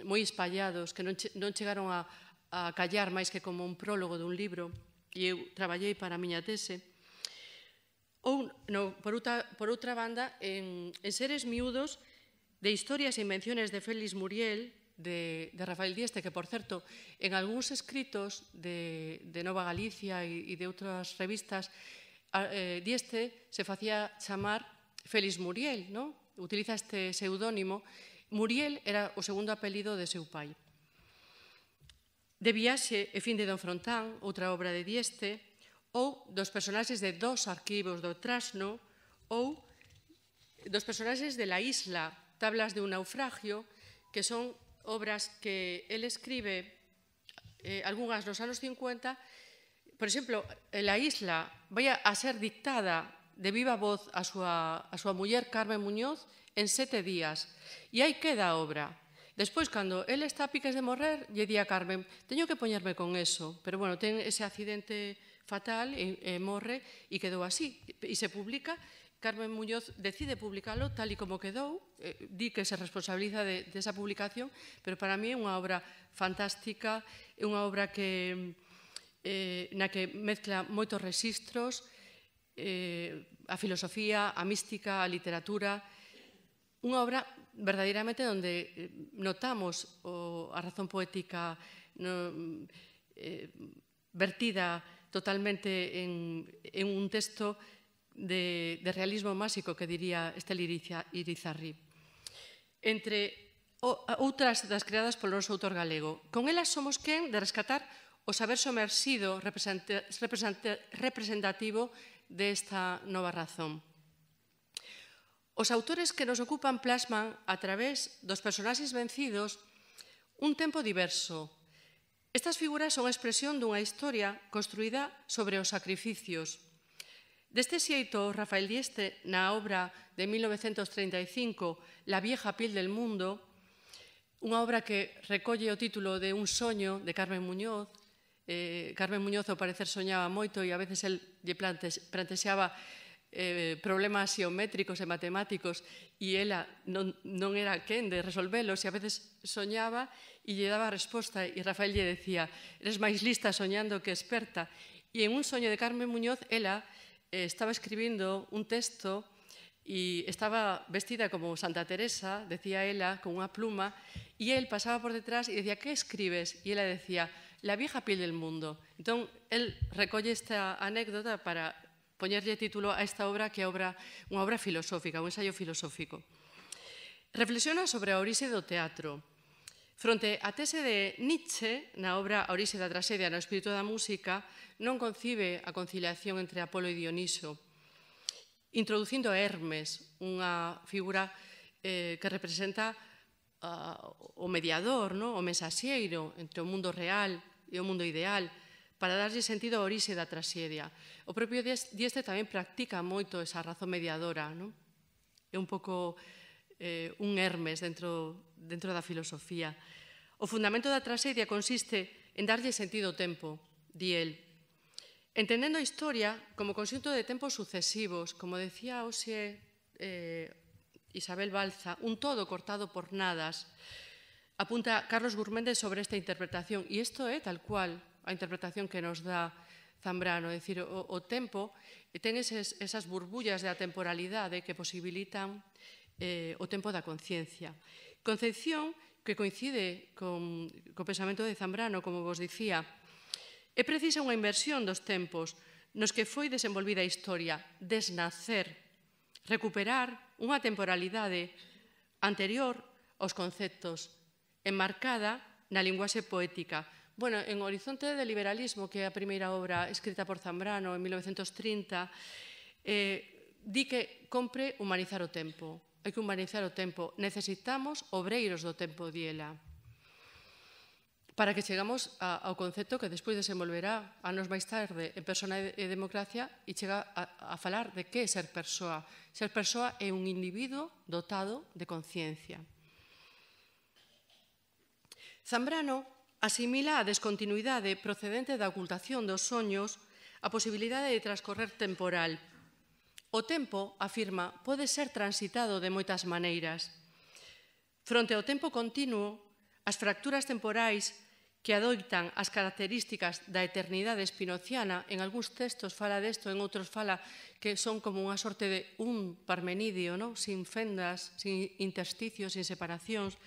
moi espallados, que non, che, non chegaron a, a callar máis que como un prólogo dun libro, e eu traballei para a miña tese. Ou, no, por, outra, por outra banda, en, en Seres miúdos, de historias e invenciones de Félix Muriel, de, de Rafael Dieste, que, por certo, en algúns escritos de, de Nova Galicia e, e de outras revistas, eh, Dieste se facía chamar Félix Muriel, non? Utiliza este pseudónimo. Muriel era o segundo apelido de seu pai. De Viaxe e fin de Don Frontán, outra obra de Dieste, ou dos personaxes de Dos arquivos do Trasno, ou dos personaxes de La Isla, Tablas de un naufragio, que son obras que el escribe, eh, algunhas nos anos cincuenta. Por exemplo, La Isla vai a ser dictada de viva voz a súa, a súa muller Carmen Muñoz en sete días. E aí queda a obra. Despois, cando ele está a piques de morrer, lle di a Carmen, teño que poñerme con eso, pero bueno, ten ese accidente fatal e, e morre e quedou así. E se publica, Carmen Muñoz decide publicalo tal e como quedou, eh, di que se responsabiliza de, de esa publicación, pero para mí é unha obra fantástica, é unha obra que, eh, na que mezcla moitos rexistros, eh, a filosofía, a mística, a literatura, unha obra verdadeiramente onde notamos o, a razón poética no, eh, vertida totalmente en, en un texto de, de realismo máxico, que diría Estel Irizarry. Entre o, outras das creadas polo noso autor galego. Con elas somos quen de rescatar o saber somersido representativo desta nova razón. Os autores que nos ocupan plasman, a través dos personaxes vencidos, un tempo diverso. Estas figuras son a expresión dunha historia construída sobre os sacrificios. Deste xeito, Rafael Dieste, na obra de mil novecentos treinta e cinco, La vieja piel del mundo, unha obra que recolle o título de Un soño, de Carmen Muñoz. Eh, Carmen Muñoz, ao parecer, soñaba moito e a veces el lle plantexeaba eh, problemas xeométricos e matemáticos e ela non, non era quen de resolvelos e a veces soñaba e lle daba a resposta e Rafael lle decía: eres máis lista soñando que experta. E en Un soño de Carmen Muñoz, ela eh, estaba escribindo un texto e estaba vestida como Santa Teresa, decía ela, con unha pluma, e el pasaba por detrás e decía: que escribes? E ela decía: La vieja piel del mundo. Entón, el recolle esta anécdota para poñerlle título a esta obra, que é obra, unha obra filosófica, un ensayo filosófico. Reflexiona sobre a orixe do teatro. Fronte á tese de Nietzsche, na obra A orixe da traxedia no espírito da música, non concibe a conciliación entre Apolo e Dioniso, introducindo a Hermes, unha figura eh, que representa uh, o mediador, no? O mensaxeiro entre o mundo real e o mundo ideal, para darlle sentido á orixe da traxedia. O propio Dieste tamén practica moito esa razón mediadora, non? É un pouco eh, un Hermes dentro, dentro da filosofía. O fundamento da traxedia consiste en darlle sentido ao tempo, di el. Entendendo a historia como conxunto de tempos sucesivos, como decía hoxe eh, Isabel Balza, un todo cortado por nadas, apunta Carlos Gurméndez sobre esta interpretación, e isto é tal cual a interpretación que nos dá Zambrano, é dicir, o, o tempo ten eses, esas burbullas de atemporalidade que posibilitan eh, o tempo da conciencia. Concepción que coincide con o pensamento de Zambrano, como vos dicía, é precisa unha inversión dos tempos nos que foi desenvolvida a historia, desnacer, recuperar unha temporalidade anterior aos conceptos, enmarcada na linguaxe poética. Bueno, en Horizonte de Liberalismo, que é a primeira obra escrita por Zambrano en mil novecentos trinta, eh, di que compre humanizar o tempo. Hai que humanizar o tempo. Necesitamos obreiros do tempo, diela, para que chegamos a, ao concepto que despois desenvolverá anos máis tarde en Persona e Democracia e chega a, a falar de que é ser persoa. Ser persoa é un individuo dotado de conciencia. Zambrano asimila a descontinuidade procedente da ocultación dos soños a posibilidade de transcorrer temporal. O tempo, afirma, pode ser transitado de moitas maneiras. Fronte ao tempo continuo, as fracturas temporais que adoitan as características da eternidade spinoziana, en algúns textos fala desto, en outros fala que son como unha sorte de un parmenidio, ¿no? Sin fendas, sin intersticios, sin separacións,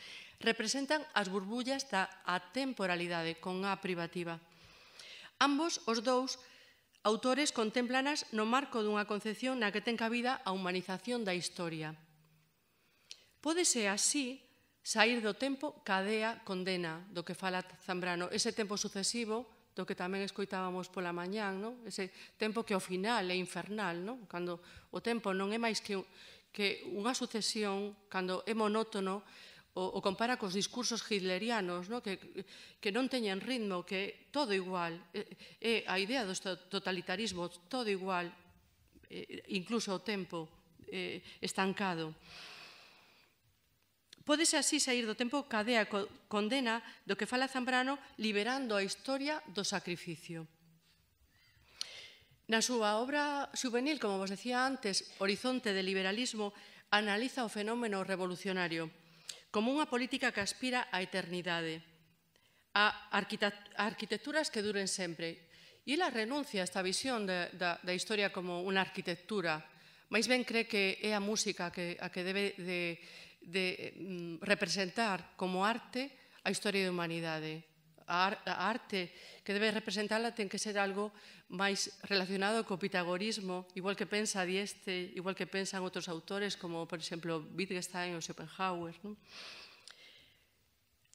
representan as burbullas da atemporalidade con A privativa. Ambos, os dous, autores contémplanas no marco dunha concepción na que ten cabida a humanización da historia. Pódese así saír do tempo cadea condena do que fala Zambrano, ese tempo sucesivo do que tamén escoitábamos pola mañán, no? Ese tempo que ao final é infernal, no? Cando o tempo non é máis que, que unha sucesión, cando é monótono, o, o compara cos discursos hitlerianos, no? que, que non teñen ritmo, que todo igual, é, é a idea do totalitarismo, todo igual, eh, incluso o tempo eh, estancado. Pódese así sair do tempo cadea condena do que fala Zambrano, liberando a historia do sacrificio. Na súa obra juvenil, como vos decía antes, Horizonte de Liberalismo, analiza o fenómeno revolucionario como unha política que aspira á eternidade, a arquitecturas que duren sempre. E ela renuncia a esta visión de, da, da historia como unha arquitectura, máis ben cree que é a música que, a que debe de, de mm, representar como arte a historia da humanidade. A, ar, a arte que debe representarla ten que ser algo máis relacionado co pitagorismo, igual que pensa Dieste, igual que pensan outros autores como, por exemplo, Wittgenstein ou Schopenhauer. Non?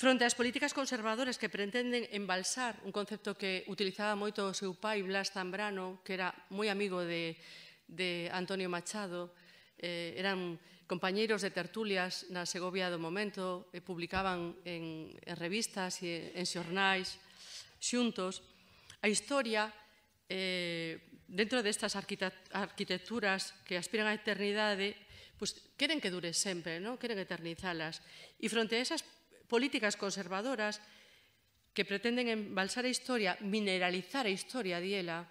Fronte ás políticas conservadoras que pretenden embalsar un concepto que utilizaba moito o seu pai, Blas Zambrano, que era moi amigo de, de Antonio Machado, eh, eran compañeiros de tertulias na Segovia do momento, e publicaban en, en revistas e en xornais xuntos. A historia, eh, dentro destas arquitecturas que aspiran á eternidade, pues, queren que dure sempre, ¿no? Queren eternizalas. E fronte a esas políticas conservadoras que pretenden embalsar a historia, mineralizar a historia diela,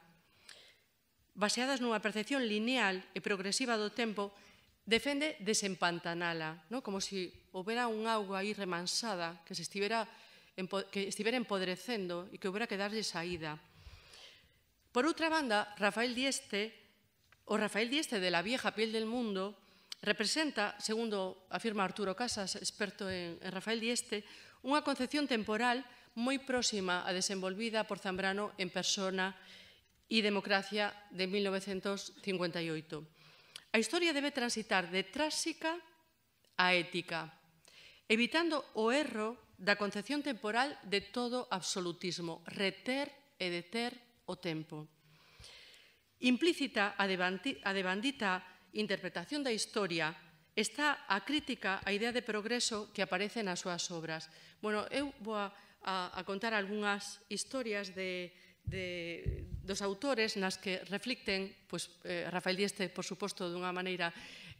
baseadas nunha percepción lineal e progresiva do tempo, defende desempantanala, ¿no? Como se si houbera un auga aí remansada que se estivera, que estivera empodrecendo e que houbera que darlle saída. Por outra banda, Rafael Dieste, o Rafael Dieste de La vieja piel del mundo, representa, segundo afirma Arturo Casas, experto en, en Rafael Dieste, unha concepción temporal moi próxima a desenvolvida por Zambrano en Persona e Democracia de mil novecentos cincuenta e oito. A historia debe transitar de tráxica a ética, evitando o erro da concepción temporal de todo absolutismo, reter e deter o tempo. Implícita a devandita interpretación da historia está a crítica á idea de progreso que aparece nas súas obras. Bueno, eu vou a, a, a contar algunhas historias de, de, dos autores nas que reflicten, pues, eh, Rafael Dieste, por suposto, dunha maneira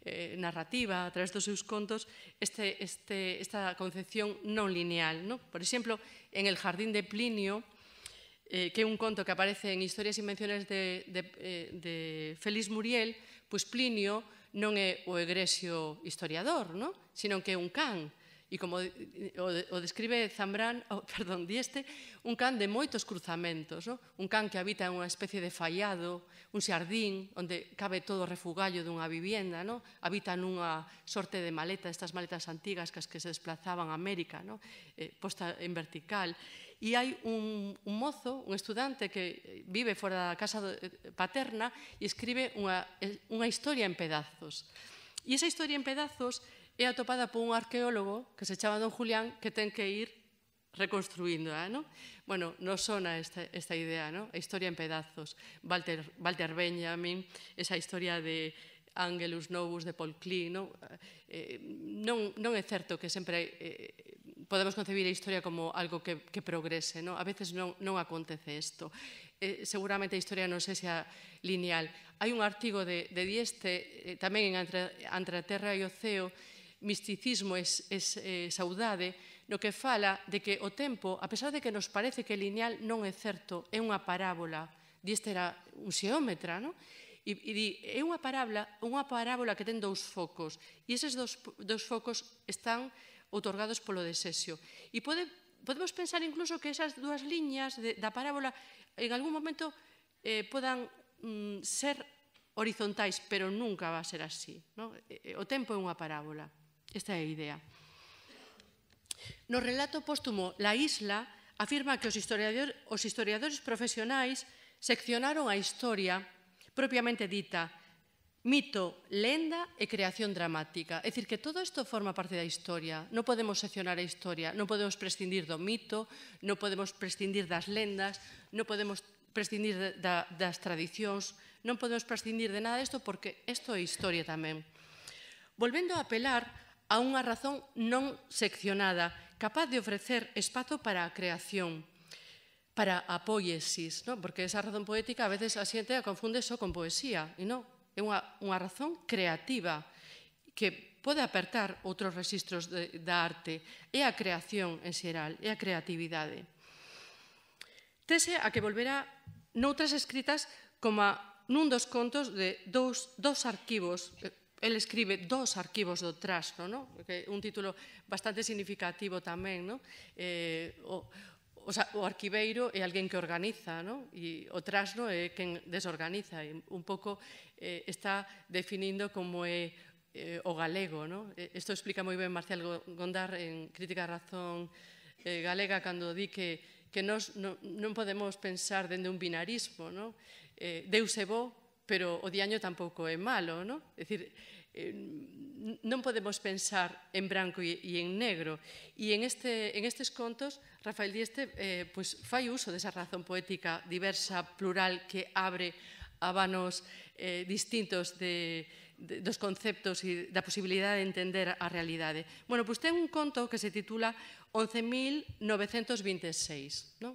eh, narrativa, a través dos seus contos, este, este, esta concepción non lineal, ¿no? Por exemplo, en El jardín de Plinio, eh, que é un conto que aparece en Historias e Invenciones de, de, de Félix Muriel, pois Plinio non é o egresio historiador, ¿no? Sino que é un can. E como o describe Zambrán, oh, perdón, Dieste, un can de moitos cruzamentos, ¿no? Un can que habita en unha especie de fallado, un xardín onde cabe todo o refugallo dunha vivienda, ¿no? Habita nunha sorte de maleta, estas maletas antigas que as que se desplazaban a América, ¿no? Eh, posta en vertical. E hai un, un mozo, un estudante que vive fora da casa paterna e escribe unha, unha historia en pedazos. E esa historia en pedazos é atopada por un arqueólogo que se chama Don Julián, que ten que ir reconstruindo, ¿no? Bueno, nos sona esta, esta idea, ¿no? A historia en pedazos. Walter, Walter Benjamin, esa historia de Angelus Novus de Paul Klee, ¿no? Eh, non, non é certo que sempre eh, podemos concebir a historia como algo que, que progrese, ¿no? A veces non, non acontece isto. Eh, seguramente a historia non sexa lineal. Hai un artigo de, de Dieste, eh, tamén en Entre, Entre a Terra e o Ceo, Misticismo e eh, Saudade, no que fala de que o tempo, a pesar de que nos parece que é lineal, non é certo, é unha parábola. Dieste era un xeómetra, non? E, e di, é unha parábola, unha parábola que ten dous focos, e eses dous, dous focos están outorgados polo desexo. E pode, podemos pensar incluso que esas dúas liñas de, da parábola en algún momento eh, podan mm, ser horizontais, pero nunca va a ser así, ¿no? O tempo é unha parábola. Esta é a idea. No relato póstumo La Isla afirma que os historiadores, os historiadores profesionais seccionaron a historia propiamente dita mito, lenda e creación dramática. É dicir, que todo isto forma parte da historia. Non podemos seccionar a historia, non podemos prescindir do mito, non podemos prescindir das lendas, non podemos prescindir da, das tradicións, non podemos prescindir de nada disto porque isto é historia tamén. Volvendo a apelar a unha razón non seccionada, capaz de ofrecer espazo para a creación, para a poiesis, ¿no? Porque esa razón poética a veces a xente a confunde só con poesía, e non, é unha, unha razón creativa que pode apertar outros registros de, da arte, é a creación en xeral, é a creatividade. Tese a que volverá noutras escritas como a, nun dos contos de dous, dos arquivos. El escribe dos arquivos do trasno, ¿no? Que é un título bastante significativo tamén, ¿no? Eh, o, o, o arquiveiro é alguén que organiza, ¿no? E o trasno é quen desorganiza. E un pouco eh, está definindo como é eh, o galego, ¿no? Isto explica moi ben Marcial Gondar en Crítica da Razón eh, Galega cando di que que nos non, non podemos pensar dende un binarismo, ¿no? Eh, Deus é bo, pero o diaño tampouco é malo, ¿no? É dicir, eh, non podemos pensar en branco e, e en negro. E en, este, en estes contos, Rafael Dieste eh, pues, fai uso desa razón poética diversa, plural, que abre a vanos eh, distintos de, dos conceptos e da posibilidade de entender a realidade. Bueno, pois ten un conto que se titula once mil novecentos vinte e seis, non?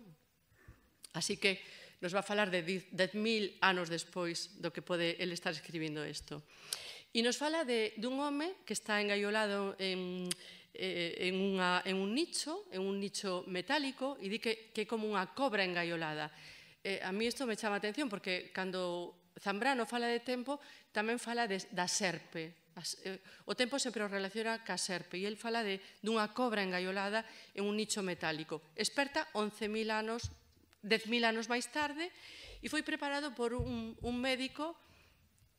Así que nos va a falar de dez mil anos despois do que pode ele estar escribindo isto. E nos fala de, dun home que está engaiolado en, en, unha, en un nicho, en un nicho metálico, e di que, que é como unha cobra engaiolada. Eh, a mí isto me chama a atención porque cando Zambrano fala de tempo, tamén fala de, da serpe. As, eh, o tempo sempre o relaciona ca serpe e el fala de, dunha cobra engaiolada en un nicho metálico. Experta once mil anos, dez mil anos máis tarde, e foi preparado por un, un médico,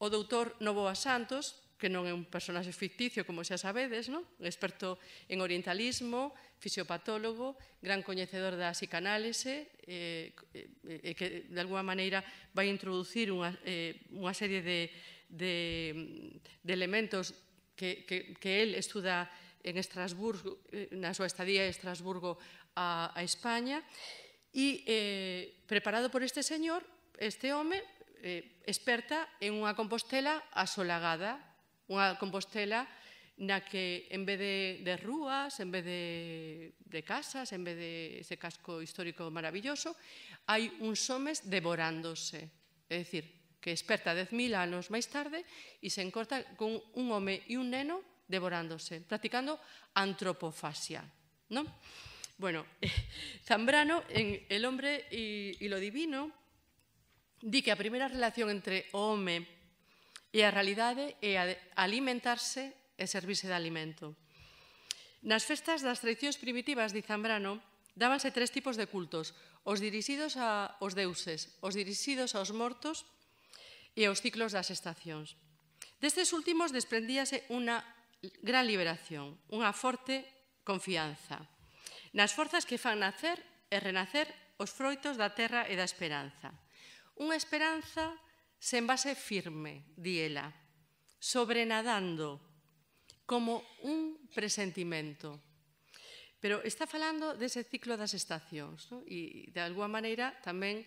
o doutor Novoa Santos, que non é un personaxe ficticio, como xa sabedes, non? Experto en orientalismo, fisiopatólogo, gran coñecedor da psicanálise, eh, eh, que de alguma maneira vai introducir unha, eh, unha serie de, de, de elementos que, que, que él estuda en Estrasburgo, na súa estadía en Estrasburgo a, a España, e eh, preparado por este señor, este home, eh, experta en unha Compostela asolagada, unha Compostela na que en vez de, de rúas, en vez de, de casas, en vez de ese casco histórico maravilloso, hai uns homes devorándose. É dicir, que experta dez mil anos máis tarde e se encorta con un home e un neno devorándose, practicando antropofasia, non? Bueno, Zambrano, en El hombre y, y lo divino, di que a primeira relación entre o home e a realidade é a alimentarse e servirse de alimento. Nas festas das tradicións primitivas, di Zambrano, dábanse tres tipos de cultos: os dirixidos aos deuses, os dirixidos aos mortos e aos ciclos das estacións. Destes últimos desprendíase unha gran liberación, unha forte confianza nas forzas que fan nacer e renacer os froitos da terra e da esperanza. Unha esperanza sen base firme, di ela, sobrenadando como un presentimento. Pero está falando dese ciclo das estacións, non? E, de alguma maneira, tamén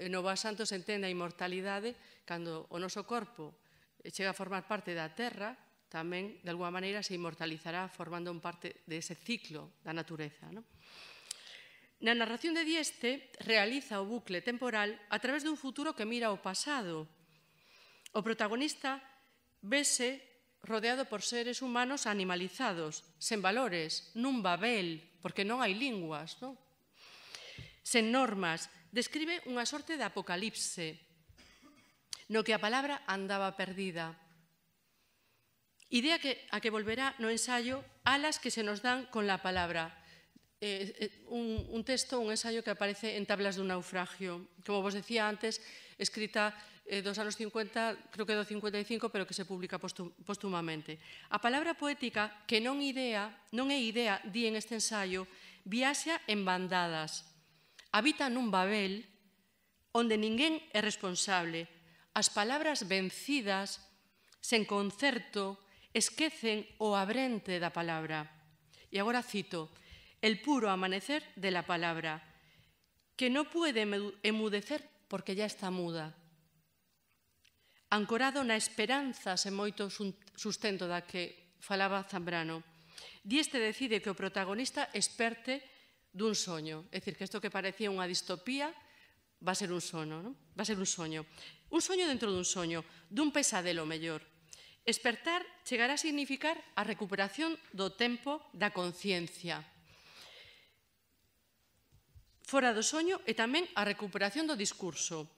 Novoa Santos entende a inmortalidade cando o noso corpo chega a formar parte da terra, tamén, de alguma maneira, se inmortalizará formando un parte dese ciclo da natureza, non? Na narración de Dieste realiza o bucle temporal a través dun futuro que mira ao pasado. O protagonista vese rodeado por seres humanos animalizados, sen valores, nun Babel, porque non hai linguas, non? Sen normas, describe unha sorte de apocalipse, no que a palabra andaba perdida. Idea que, a que volverá no ensayo Alas que se nos dan con la palabra. Eh, eh, un, un texto, un ensayo que aparece en Tablas dun naufragio. Como vos decía antes, escrita eh, dos anos cincuenta, creo que do cincuenta e cinco, pero que se publica póstumamente. A palabra poética, que non, idea, non é idea, di en este ensayo, viaxa en bandadas. Habita nun Babel onde ninguén é responsable. As palabras vencidas, sen concerto, esquecen o abrente da palabra. E agora cito: el puro amanecer de la palabra, que no puede emudecer porque ya está muda. Ancorado na esperanza sen moito sustento da que falaba Zambrano, Dieste decide que o protagonista experte dun soño. É dicir, que isto que parecía unha distopía va a ser un sono, non? Va a ser un soño. Un soño dentro dun soño, dun pesadelo mellor. Espertar chegará a significar a recuperación do tempo da conciencia. Fora do soño e tamén a recuperación do discurso.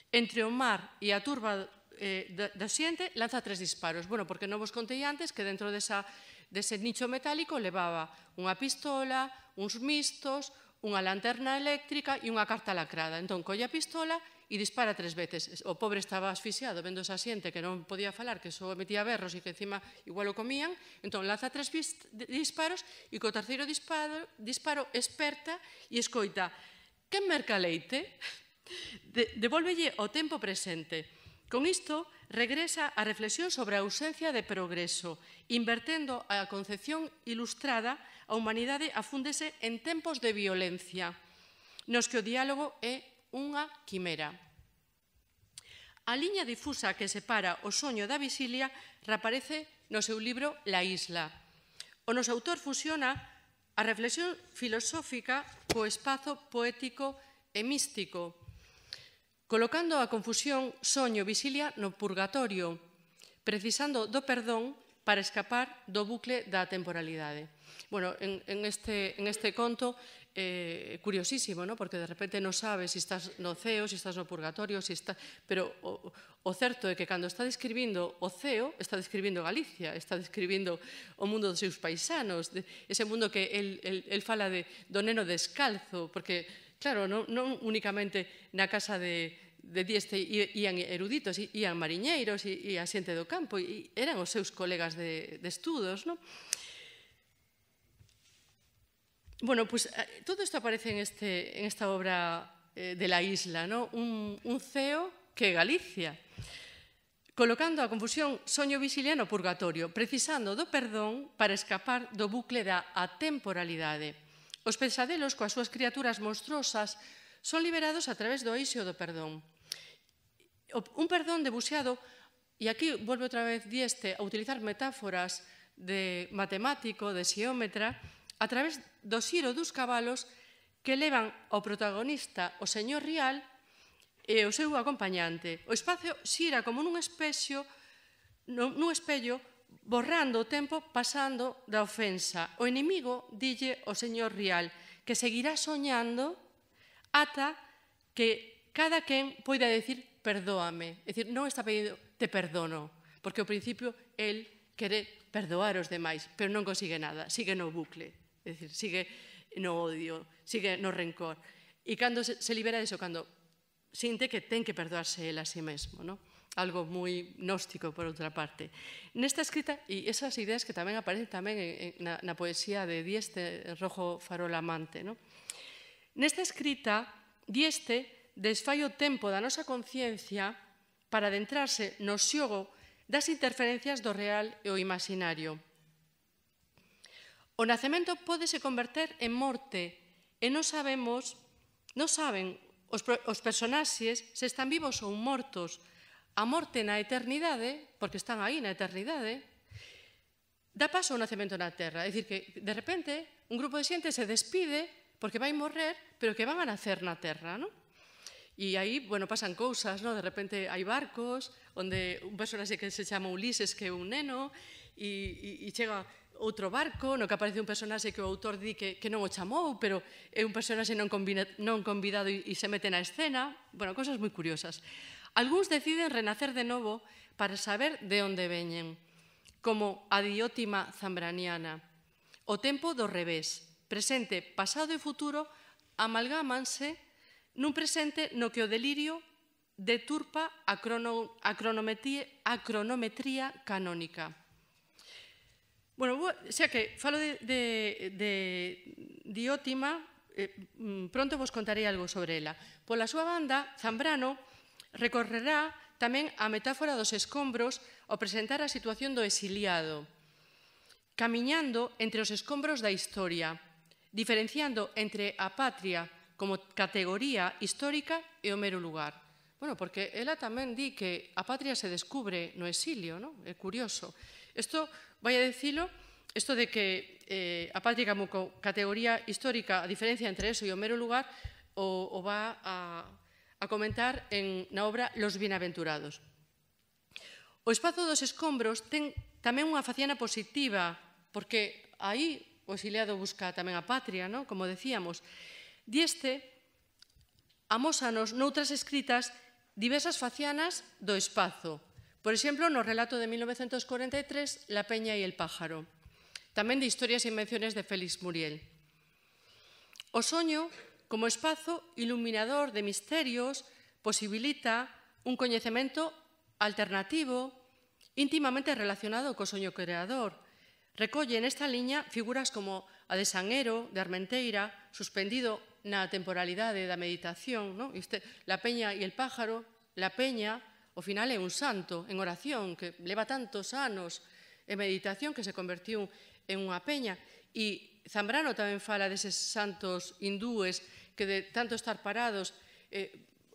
Entre o mar e a turba eh, do xente lanza tres disparos. Bueno, porque non vos contei antes que dentro desa, dese nicho metálico levaba unha pistola, uns mistos, unha lanterna eléctrica e unha carta lacrada. Entón, colle a pistola e dispara tres veces. O pobre estaba asfixiado vendo esa xente que non podía falar, que só metía berros e que encima igual o comían. Entón, lanza tres disparos e co terceiro disparo, disparo experta e escoita: quen merca leite? De, devolvelle o tempo presente. Con isto, regresa a reflexión sobre a ausencia de progreso, invertendo a concepción ilustrada, a humanidade afúndese en tempos de violencia, nos que o diálogo é unha quimera. A liña difusa que separa o soño da visilia reaparece no seu libro La Isla. O noso autor fusiona a reflexión filosófica co espazo poético e místico, colocando a confusión soño-visilia no purgatorio, precisando do perdón para escapar do bucle da temporalidade. Bueno, en, en, este, en este conto é eh, curiosísimo, ¿no? Porque de repente non sabes se estás no ceo, se estás no purgatorio, se está... pero o, o certo é que cando está describindo o ceo, está describindo Galicia, está describindo o mundo dos seus paisanos, de, ese mundo que el, el, el fala de, do neno descalzo, porque, claro, non, non únicamente na casa de, de Dieste ían eruditos, ían mariñeiros, e a xente do campo, e eran os seus colegas de, de estudos, non? Bueno, pues todo esto aparece en, este, en esta obra eh, de La Isla, ¿no? Un, un ceo que é Galicia, colocando a confusión soño-visilia no purgatorio, precisando do perdón para escapar do bucle da atemporalidade. Os pesadelos coas súas criaturas monstruosas son liberados a través do eixo do perdón. Un perdón debuxeado, e aquí volve outra vez Dieste a utilizar metáforas de matemático, de xeómetra, a través do xiro dos cabalos que levan ao protagonista o señor Rial e o seu acompañante. O espacio xira como nun espexo, nun espello, borrando o tempo pasando da ofensa. O inimigo dille ao señor Rial que seguirá soñando ata que cada quen poida decir perdóame. É dicir, non está pedindo te perdono, porque ao principio el quere perdoar os demais, pero non consigue nada, sigue no bucle. É dicir, sigue no odio, sigue no rencor. E cando se libera diso, cando sinte que ten que perdoarse el a si mesmo, ¿no? Algo moi gnóstico, por outra parte. Nesta escrita, e esas ideas que tamén aparecen tamén na, na poesía de Dieste, Rojo Farol Amante, ¿no? Nesta escrita, Dieste desfai o tempo da nosa conciencia para adentrarse no xogo das interferencias do real e o imaginario. O nacemento pódese converter en morte e non sabemos, non saben os, os personaxes se están vivos ou mortos. A morte na eternidade, porque están aí na eternidade, dá paso ao nacemento na terra. É dicir, que de repente un grupo de xente se despide porque vai morrer, pero que van a nacer na terra, non? E aí, bueno, pasan cousas, non? De repente hai barcos onde un personaxe que se chama Ulises, que é un neno, e, e, e chega outro barco no que aparece un personaxe que o autor di que, que non o chamou, pero é un personaxe non, combina, non convidado e, e se mete na escena. Bueno, cosas moi curiosas. Algúns deciden renacer de novo para saber de onde veñen, como a diótima zambraniana. O tempo do revés, presente, pasado e futuro amalgámanse nun presente no que o delirio deturpa a, crono, a, cronometría, a cronometría canónica. Bueno, xa que falo de, de, de Diótima, eh, pronto vos contarei algo sobre ela. Pola súa banda, Zambrano recorrerá tamén a metáfora dos escombros ao presentar a situación do exiliado, camiñando entre os escombros da historia, diferenciando entre a patria como categoría histórica e o mero lugar. Bueno, porque ela tamén di que a patria se descubre no exilio, non? É curioso. Isto, vai a dicilo, isto de que eh, a patria como categoría histórica, a diferencia entre eso e o mero lugar, o, o va a, a comentar en, na obra Los Bienaventurados. O espazo dos escombros ten tamén unha faciana positiva, porque aí o exiliado busca tamén a patria, non? Como decíamos. Dieste amósanos noutras escritas diversas facianas do espazo. Por exemplo, no relato de mil novecentos cuarenta e tres, La peña e el pájaro. Tamén de Historias e invenciones de Félix Muriel. O soño, como espazo iluminador de misterios, posibilita un coñecemento alternativo íntimamente relacionado co soño creador. Recolle nesta liña figuras como a de Sanguero, de Armenteira, suspendido na temporalidade da meditación, non? Este, La peña e el pájaro, La peña, ao final é un santo en oración que leva tantos anos en meditación que se convertiu en unha peña. E Zambrano tamén fala deses santos hindúes que de tanto estar parados eh,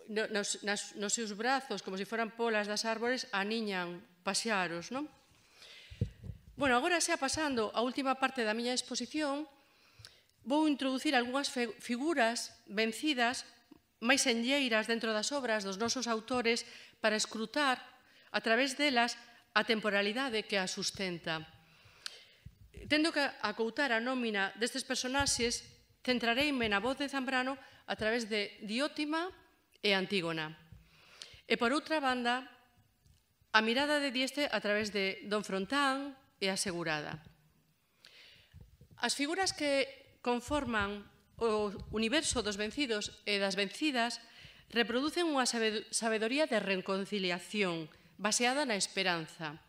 nos, nas, nos seus brazos, como se foran polas das árbores, aniñan pasearos, non? Bueno, agora xa pasando a última parte da miña exposición, vou introducir algunhas figuras vencidas, máis enlleiras dentro das obras dos nosos autores para escrutar, a través delas, a temporalidade que a sustenta. Tendo que acoutar a nómina destes personaxes, centrareime na voz de Zambrano a través de Diótima e Antígona. E, por outra banda, a mirada de Dieste a través de Don Frontán e a Segurada. As figuras que conforman o universo dos vencidos e das vencidas reproducen unha sabedoría de reconciliación baseada na esperanza.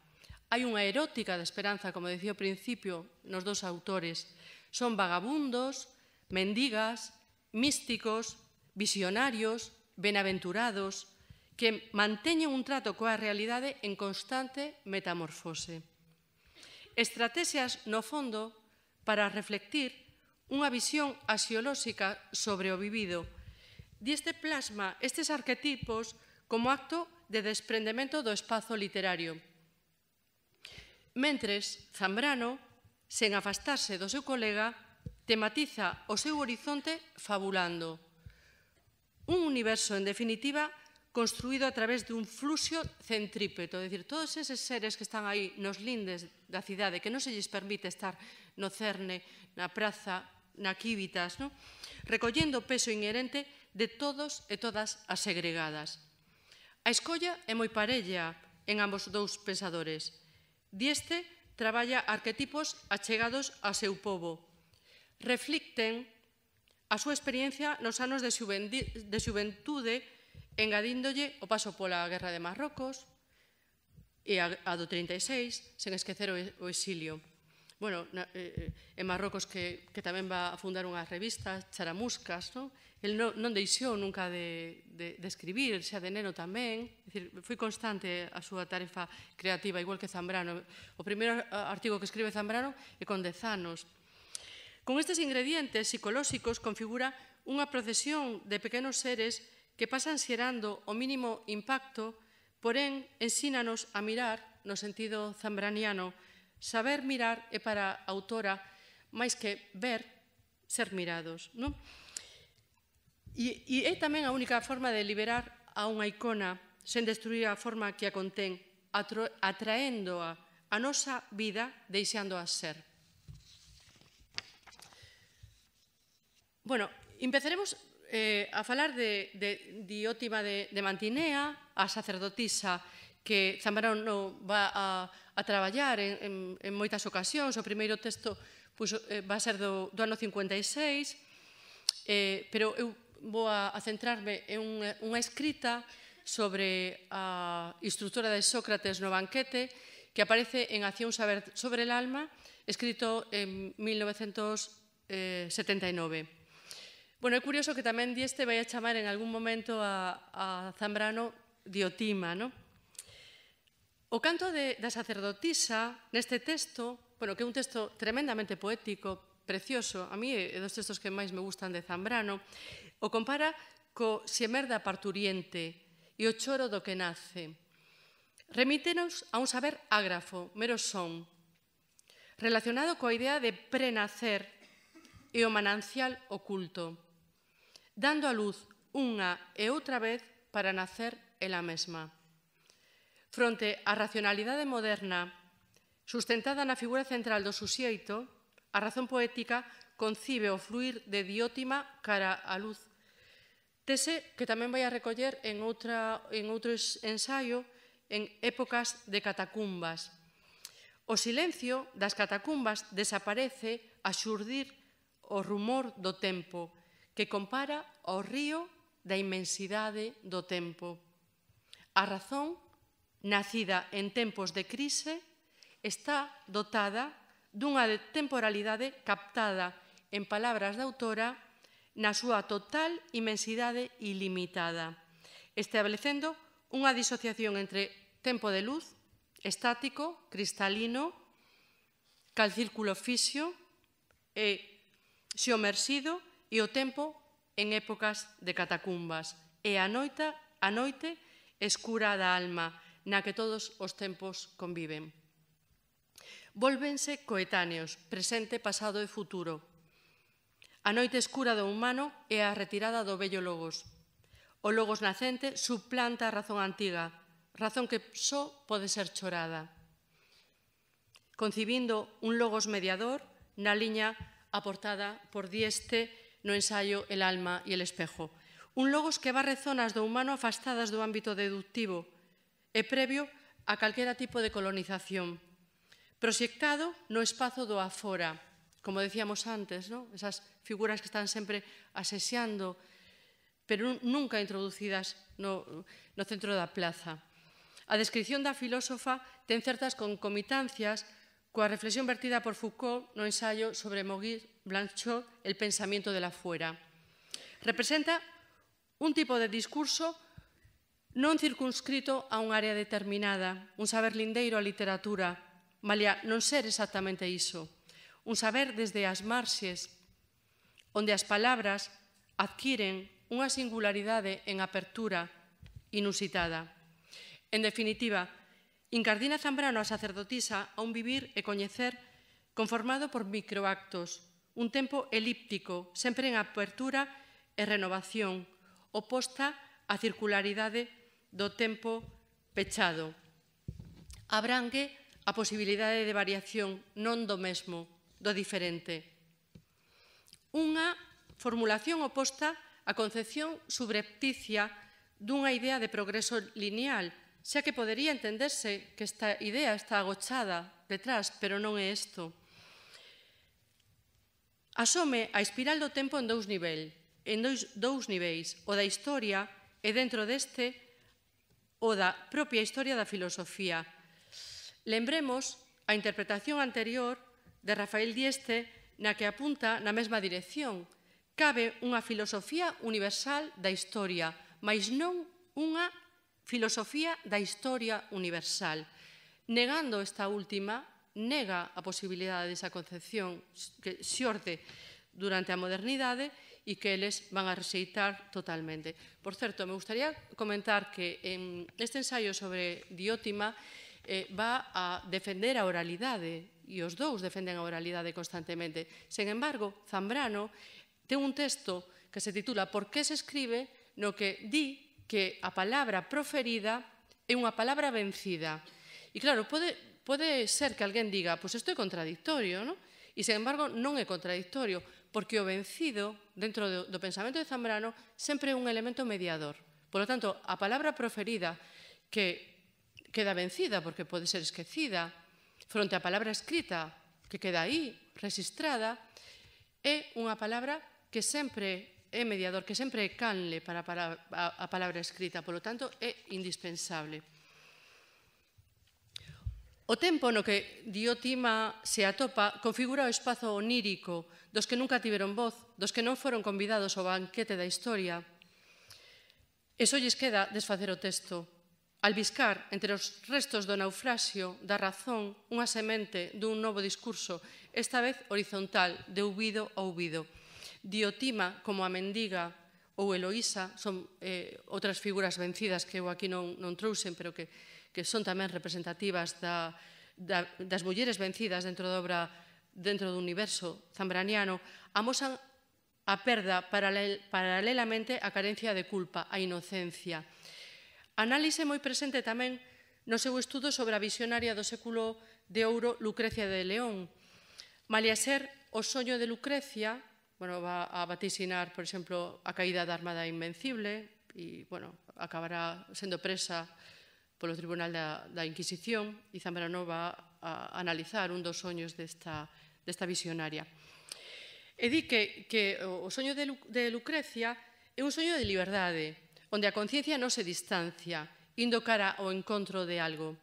Hai unha erótica de esperanza, como decía ao principio, nos dos autores. Son vagabundos, mendigas, místicos, visionarios, benaventurados, que manteñen un trato coa realidade en constante metamorfose. Estratexias, no fondo, para reflectir unha visión axiolóxica sobre o vivido. Dieste plasma estes arquetipos como acto de desprendemento do espazo literario. Mentres, Zambrano, sen afastarse do seu colega, tematiza o seu horizonte fabulando. Un universo, en definitiva, construído a través dun fluxo centrípeto, é dicir, todos eses seres que están aí nos lindes da cidade, que non se lles permite estar no Cerne, na praza, na Quívitas, no? Recollendo o peso inherente de todos e todas as segregadas. A escolla é moi parella en ambos dous pensadores. Dieste traballa arquetipos achegados ao seu pobo. Reflicten a súa experiencia nos anos de xuventude, engadíndolle o paso pola Guerra de Marrocos e a do trinta e seis, sen esquecer o exilio. Bueno, en Marrocos que tamén va a fundar unha revista, Charamuscas, non? El non deixou nunca de escribir, xa de neno tamén, foi constante a súa tarefa creativa, igual que Zambrano. O primeiro artigo que escribe Zambrano é con dez anos. Con estes ingredientes psicolóxicos configura unha procesión de pequenos seres que pasan xerando o mínimo impacto, porén, ensínanos a mirar, no sentido zambraniano. Saber mirar é para a autora, máis que ver, ser mirados. E é tamén a única forma de liberar a unha icona sen destruir a forma que a contén, atraéndoa a nosa vida, deixándoa ser. Bueno, empezaremos a falar de Diótima de Mantinea, a sacerdotisa que Zambrano va a traballar en moitas ocasións. O primeiro texto va a ser do ano cincuenta e seis, pero eu vou a centrarme en unha escrita sobre a instructora de Sócrates no banquete que aparece en Acción sobre el alma, escrito en mil novecentos setenta e nove. Bueno, é curioso que tamén Dieste vai a chamar en algún momento a Zambrano Diótima, non? O canto da sacerdotisa neste texto, bueno, que é un texto tremendamente poético, precioso, a mí é dos textos que máis me gustan de Zambrano, o compara co xemer da parturiente e o choro do que nace. Remítenos a un saber ágrafo, mero son, relacionado coa idea de prenacer e o manancial oculto, dando a luz unha e outra vez para nacer ela mesma. Fronte á racionalidade moderna, sustentada na figura central do suxeito, a razón poética concibe o fluir de Diótima cara á luz. Tese que tamén vai a recoller en outro ensaio en épocas de catacumbas. O silencio das catacumbas desaparece a xurdir o rumor do tempo, que compara ao río da inmensidade do tempo. A razón, nacida en tempos de crise, está dotada dunha temporalidade captada, en palabras da autora, na súa total inmensidade ilimitada, establecendo unha disociación entre tempo de luz, estático, cristalino, cal círculo fixo e xeomersido, e o tempo en épocas de catacumbas, e a noite, a noite escura da alma, na que todos os tempos conviven. Vólvense coetáneos, presente, pasado e futuro. A noite escura do humano é a retirada do vello logos. O logos nacente suplanta a razón antiga, razón que só pode ser chorada, concibindo un logos mediador na liña aportada por Dieste no ensayo El alma y el espejo. Un logos que barre zonas do humano afastadas do ámbito deductivo e previo a calquera tipo de colonización, proxectado no espazo do afora, como decíamos antes, ¿no? Esas figuras que están sempre asexando, pero nunca introducidas no, no centro da plaza. A descripción da filósofa ten certas concomitancias coa reflexión vertida por Foucault no ensayo sobre Maurice Blanchot, El pensamiento de la fuera. Representa un tipo de discurso non circunscrito a un área determinada, un saber lindeiro á literatura, malia non ser exactamente iso, un saber desde as marxes, onde as palabras adquiren unha singularidade en apertura inusitada. En definitiva, incardina Zambrano a sacerdotisa a un vivir e coñecer conformado por microactos, un tempo elíptico, sempre en apertura e renovación, oposta á circularidade do tempo pechado. Abrangue a posibilidade de variación non do mesmo, do diferente. Unha formulación oposta á concepción subrepticia dunha idea de progreso lineal, xa que podería entenderse que esta idea está agochada detrás, pero non é isto. Asome a espiral do tempo en dous niveis, en dous, dous niveis, o da historia e dentro deste o da propia historia da filosofía. Lembremos a interpretación anterior de Rafael Dieste na que apunta na mesma dirección. Cabe unha filosofía universal da historia, mas non unha filosofía da historia universal. Negando esta última, nega a posibilidade desa concepción que xorde durante a modernidade e que eles van a rexeitar totalmente. Por certo, me gustaría comentar que en este ensayo sobre Diótima eh, va a defender a oralidade, e os dous defenden a oralidade constantemente. Sen embargo, Zambrano ten un texto que se titula Por que se escribe, no que di que a palabra proferida é unha palabra vencida. E claro, pode, pode ser que alguén diga, pois isto é contradictorio, non? E, sen embargo, non é contradictorio, porque o vencido, dentro do, do pensamento de Zambrano, sempre é un elemento mediador. Por lo tanto, a palabra proferida, que queda vencida, porque pode ser esquecida, fronte á palabra escrita, que queda aí, registrada, é unha palabra que sempre é mediador, que sempre é canle para a palabra escrita, por lo tanto, é indispensable. O tempo no que Diótima se atopa configura o espazo onírico dos que nunca tiveron voz, dos que non foron convidados ao banquete da historia. E só lles queda desfacer o texto, albiscar entre os restos do naufraxio da razón unha semente dun novo discurso, esta vez horizontal, de ouvido a ouvido. Diótima, como a mendiga ou Eloísa, son eh, outras figuras vencidas que eu aquí non, non trouxen, pero que que son tamén representativas da, da, das mulleres vencidas dentro da obra, dentro do universo zambraniano, amosan a perda paralel, paralelamente á carencia de culpa, a inocencia. Análise moi presente tamén no seu estudo sobre a visionaria do século de ouro Lucrecia de León. Malia ser o soño de Lucrecia, bueno, va a vaticinar, por exemplo, a caída da Armada Invencible e, bueno, acabará sendo presa polo Tribunal da, da Inquisición, e Zambrano va a analizar un dos soños desta, desta visionaria. E di que, que o soño de, Lu, de Lucrecia é un soño de liberdade, onde a conciencia non se distancia, indo cara ao encontro de algo.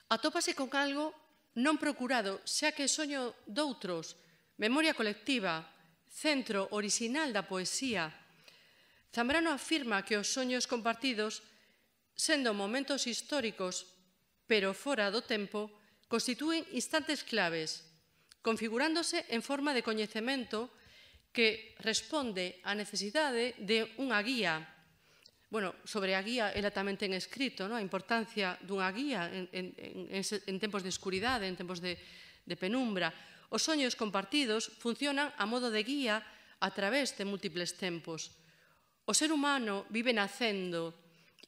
Atópase con algo non procurado, xa que é soño doutros, memoria colectiva, centro orixinal da poesía. Zambrano afirma que os soños compartidos, sendo momentos históricos, pero fora do tempo, constitúen instantes claves, configurándose en forma de coñecemento que responde á necesidade de unha guía. Bueno, sobre a guía, ela tamén ten escrito, a importancia dunha guía en tempos de escuridade, en tempos de penumbra. Os soños compartidos funcionan a modo de guía a través de múltiples tempos. O ser humano vive nacendo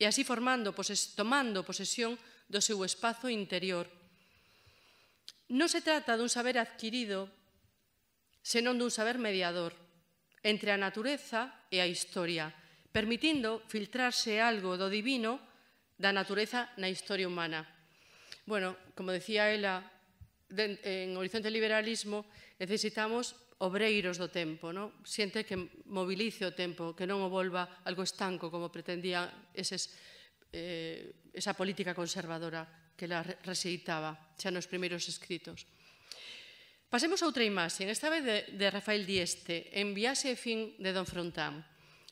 e así formando, tomando posesión do seu espazo interior. Non se trata dun saber adquirido, senón dun saber mediador entre a natureza e a historia, permitindo filtrarse algo do divino da natureza na historia humana. Bueno, como decía ela, en Horizonte Liberalismo necesitamos obreiros do tempo, xente que movilice o tempo, que non o volva algo estanco como pretendía esa política conservadora que la rexeitaba xa nos primeiros escritos. Pasemos a outra imaxe, esta vez de Rafael Dieste, en Viaxe e fin de Don Frontán,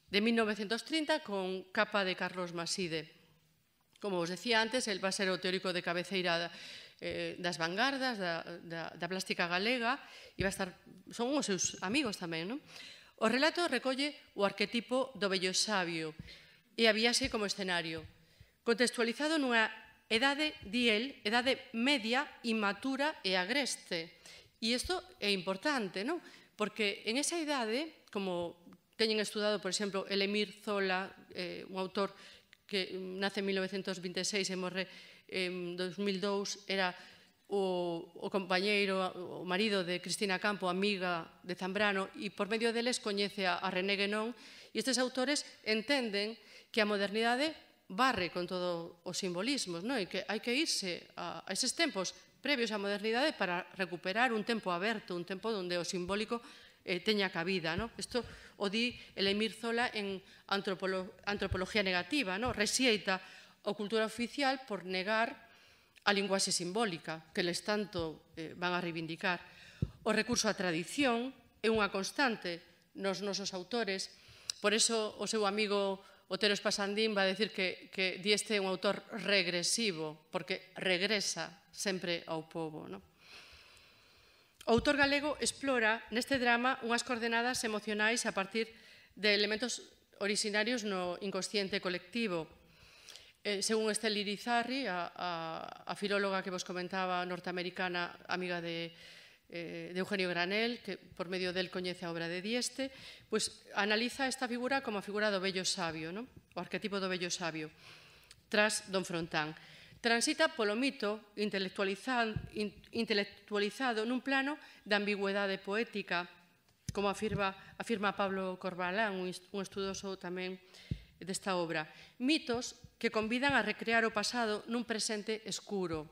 de mil novecentos trinta, con capa de Carlos Maside. Como vos decía antes, el va a ser o teórico de cabeceira das vanguardas, da plástica galega, e son os seus amigos tamén. O relato recolle o arquetipo do vello sabio e a viaxe como escenario, contextualizado nunha edade, di el, edade media, inmatura e agreste. E isto é importante, non? Porque en esa idade, como teñen estudado, por exemplo, el Emir Zola, un autor que nace en mil novecentos vinte e seis e morre en dos mil dous, era o compañeiro, o marido de Cristina Campo, amiga de Zambrano, e por medio deles coñece a René Guénon, e estes autores entenden que a modernidade barre con todos os simbolismos, e que hai que irse a eses tempos previos á modernidade para recuperar un tempo aberto, un tempo onde o simbólico teña cabida. Isto o di el Emir Zola en Antropología Negativa, rexeita a cultura oficial por negar a linguaxe simbólica, que les tanto van a reivindicar. O recurso á tradición é unha constante nos nosos autores, por iso o seu amigo Otero Espasandín va a decir que Dieste é un autor regresivo, porque regresa sempre ao pobo. O autor galego explora neste drama unhas coordenadas emocionais a partir de elementos orixinarios no inconsciente colectivo. Según Estelle Irizarry, a filóloga que vos comentaba, norteamericana, amiga de Eugenio Granell, que por medio del coñece a obra de Dieste, analiza esta figura como a figura do vello sabio, o arquetipo do vello sabio, tras Don Frontán. Transita polo mito intelectualizado nun plano de ambigüedade poética, como afirma Pablo Corbalán, un estudoso tamén desta obra. Mitos que convidan a recrear o pasado nun presente escuro.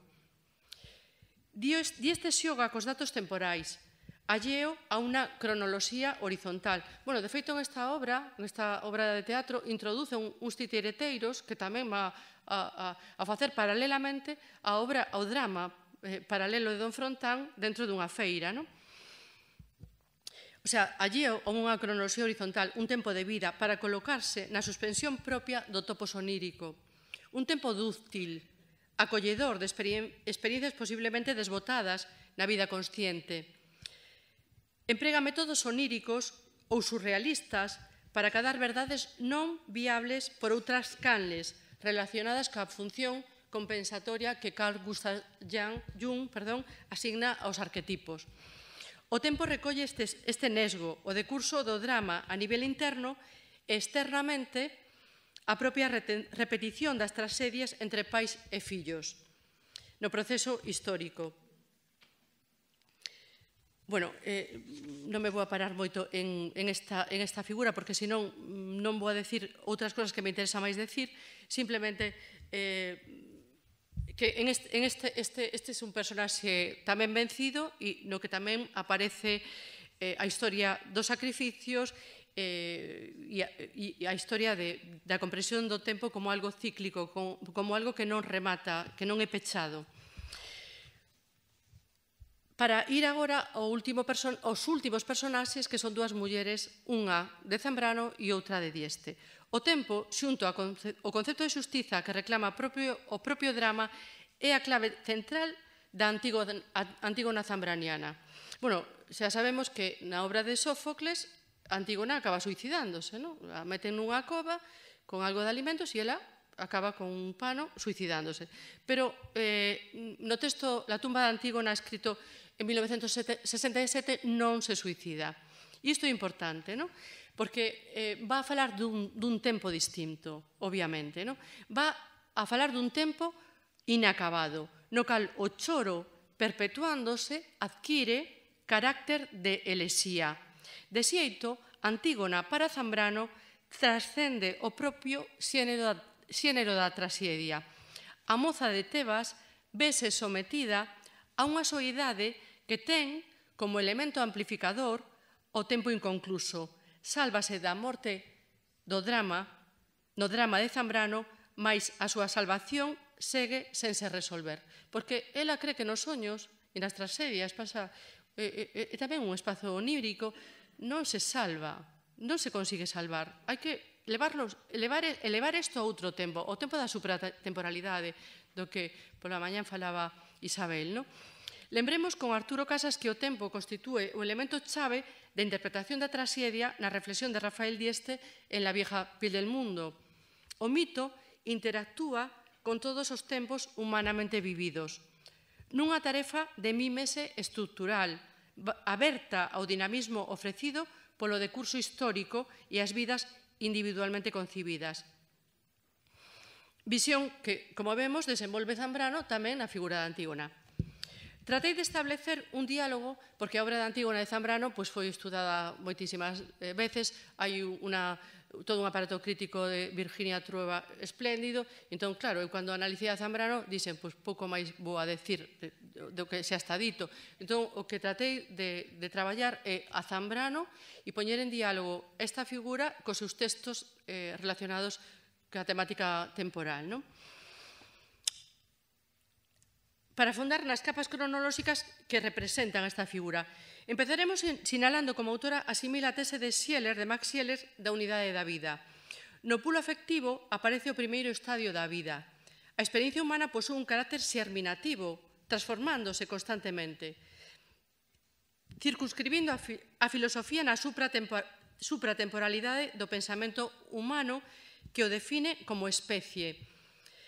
Dieste xoga cos datos temporais, alleo a unha cronoloxía horizontal. Bueno, de feito, nesta obra, nesta obra de teatro, introduce uns titireteiros que tamén va a facer paralelamente a obra, ao drama paralelo de Don Frontán dentro dunha feira. O sea, alleo a unha cronoloxía horizontal, un tempo de vida para colocarse na suspensión propia do topo sonírico. Un tempo dúctil, acolledor de experiencias posiblemente desbotadas na vida consciente. Emprega métodos oníricos ou surrealistas para cadar verdades non viables por outras canles relacionadas coa función compensatoria que Carl Gustav Jung asigna aos arquetipos. O tempo recolle este nesgo, o decurso do drama a nivel interno e externamente a propia repetición das tragedias entre pais e fillos no proceso histórico. Bueno, non me vou a parar moito en esta figura, porque senón non vou a decir outras cosas que me interesa máis decir, simplemente que este é un personaxe tamén vencido e no que tamén aparece a historia dos sacrificios e a historia da comprensión do tempo como algo cíclico, como algo que non remata, que non é pechado. Para ir agora aos últimos personaxes, que son dúas mulleres, unha de Zambrano e outra de Dieste. O tempo, xunto ao concepto de xustiza que reclama o propio drama, é a clave central da Antígona zambraniana. Bueno, xa sabemos que na obra de Sófocles Antígona acaba suicidándose, non? A meten nunha cova con algo de alimentos e ela acaba con un pano suicidándose. Pero eh, no texto La tumba de Antígona, escrito en mil novecientos sesenta e sete, non se suicida. E isto é importante, non? Porque eh, va a falar dun, dun tempo distinto, obviamente, non? Va a falar dun tempo inacabado, no cal o choro perpetuándose adquire carácter de elexía. De xeito, Antígona para Zambrano trascende o propio xénero, xénero da traxedia. A moza de Tebas vese sometida a unha soidade que ten como elemento amplificador o tempo inconcluso. Sálvase da morte do drama, no drama de Zambrano, mais a súa salvación segue sen se resolver. Porque ela cree que nos soños e nas tragedias pasa, e, e, e tamén un espazo onírico, non se salva, non se consigue salvar. Hai que elevarlos, elevar, elevar isto a outro tempo, o tempo da supratemporalidade, do que pola mañán falaba Isabel, non? Lembremos con Arturo Casas que o tempo constitúe o elemento chave de interpretación da traxedia na reflexión de Rafael Dieste en La vieja piel del mundo. O mito interactúa con todos os tempos humanamente vividos, nunha tarefa de mímese estructural, aberta ao dinamismo ofrecido polo decurso histórico e as vidas individualmente concibidas. Visión que, como vemos, desenvolve Zambrano tamén na figura de Antígona. Tratei de establecer un diálogo, porque a obra de Antígona de Zambrano pois, foi estudada moitísimas veces, hai unha, todo un aparato crítico de Virginia Trueba espléndido, entón, claro, eu cando analicei a Zambrano, dixen, pois pouco máis vou a decir do que xa está dito. Entón, o que tratei de, de traballar é a Zambrano e poñer en diálogo esta figura cos seus textos eh, relacionados ca temática temporal, non? Para afondar nas capas cronolóxicas que representan esta figura. Empezaremos sinalando como autora asimila a tese de Scheler, de Max Scheler, da unidade da vida. No pulo afectivo aparece o primeiro estadio da vida. A experiencia humana posúe un carácter xerminativo, transformándose constantemente, circunscribindo a, fi a filosofía na supratemporalidade do pensamento humano que o define como especie.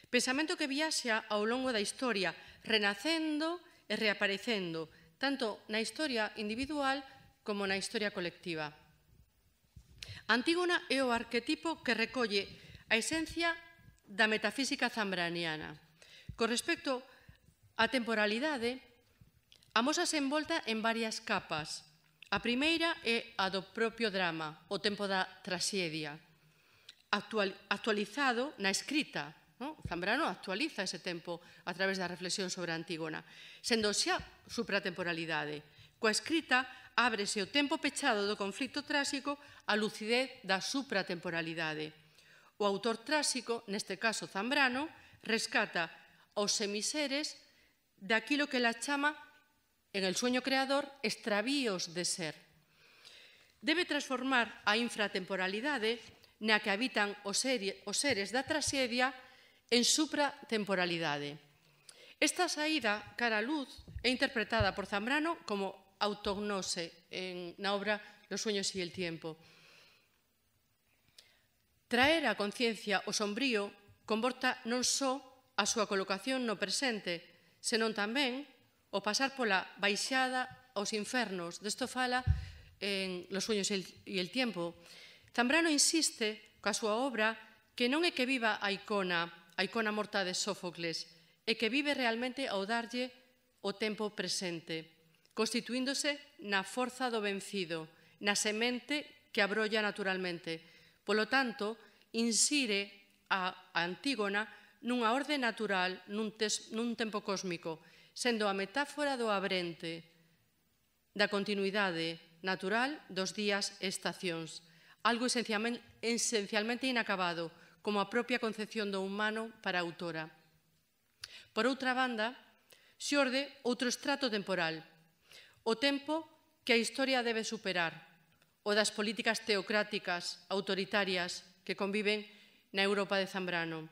Pensamento que viaxa ao longo da historia, renacendo e reaparecendo, tanto na historia individual como na historia colectiva. Antígona é o arquetipo que recolle a esencia da metafísica zambraniana. Con respecto á temporalidade, amósase envolta en varias capas. A primeira é a do propio drama, o tempo da traxedia, actual, actualizado na escrita. No? Zambrano actualiza ese tempo a través da reflexión sobre Antígona, sendo xa supratemporalidade. Coa escrita, ábrese o tempo pechado do conflito tráxico á lucidez da supratemporalidade. O autor tráxico, neste caso Zambrano, rescata aos semiseres daquilo que la chama, en el sueño creador, extravíos de ser. Debe transformar a infratemporalidade na que habitan os seres da traxedia en supratemporalidade. Esta saída cara á luz é interpretada por Zambrano como autognose en, na obra Los sueños y el tiempo. Traer á conciencia o sombrío comporta non só a súa colocación no presente, senón tamén o pasar pola baixada aos infernos. Desto fala en Los sueños y el tiempo. Zambrano insiste coa súa obra que non é que viva a icona, a icona morta de Sófocles, e que vive realmente ao darlle o tempo presente, constituíndose na forza do vencido, na semente que abrolla naturalmente. Polo tanto, insire a Antígona nunha orde natural, nun, nun tempo cósmico, sendo a metáfora do abrente, da continuidade natural dos días e estacións, algo esencialmente, esencialmente inacabado, como a propia concepción do humano para a autora. Por outra banda, xorde outro estrato temporal, o tempo que a historia debe superar, o das políticas teocráticas, autoritarias, que conviven na Europa de Zambrano.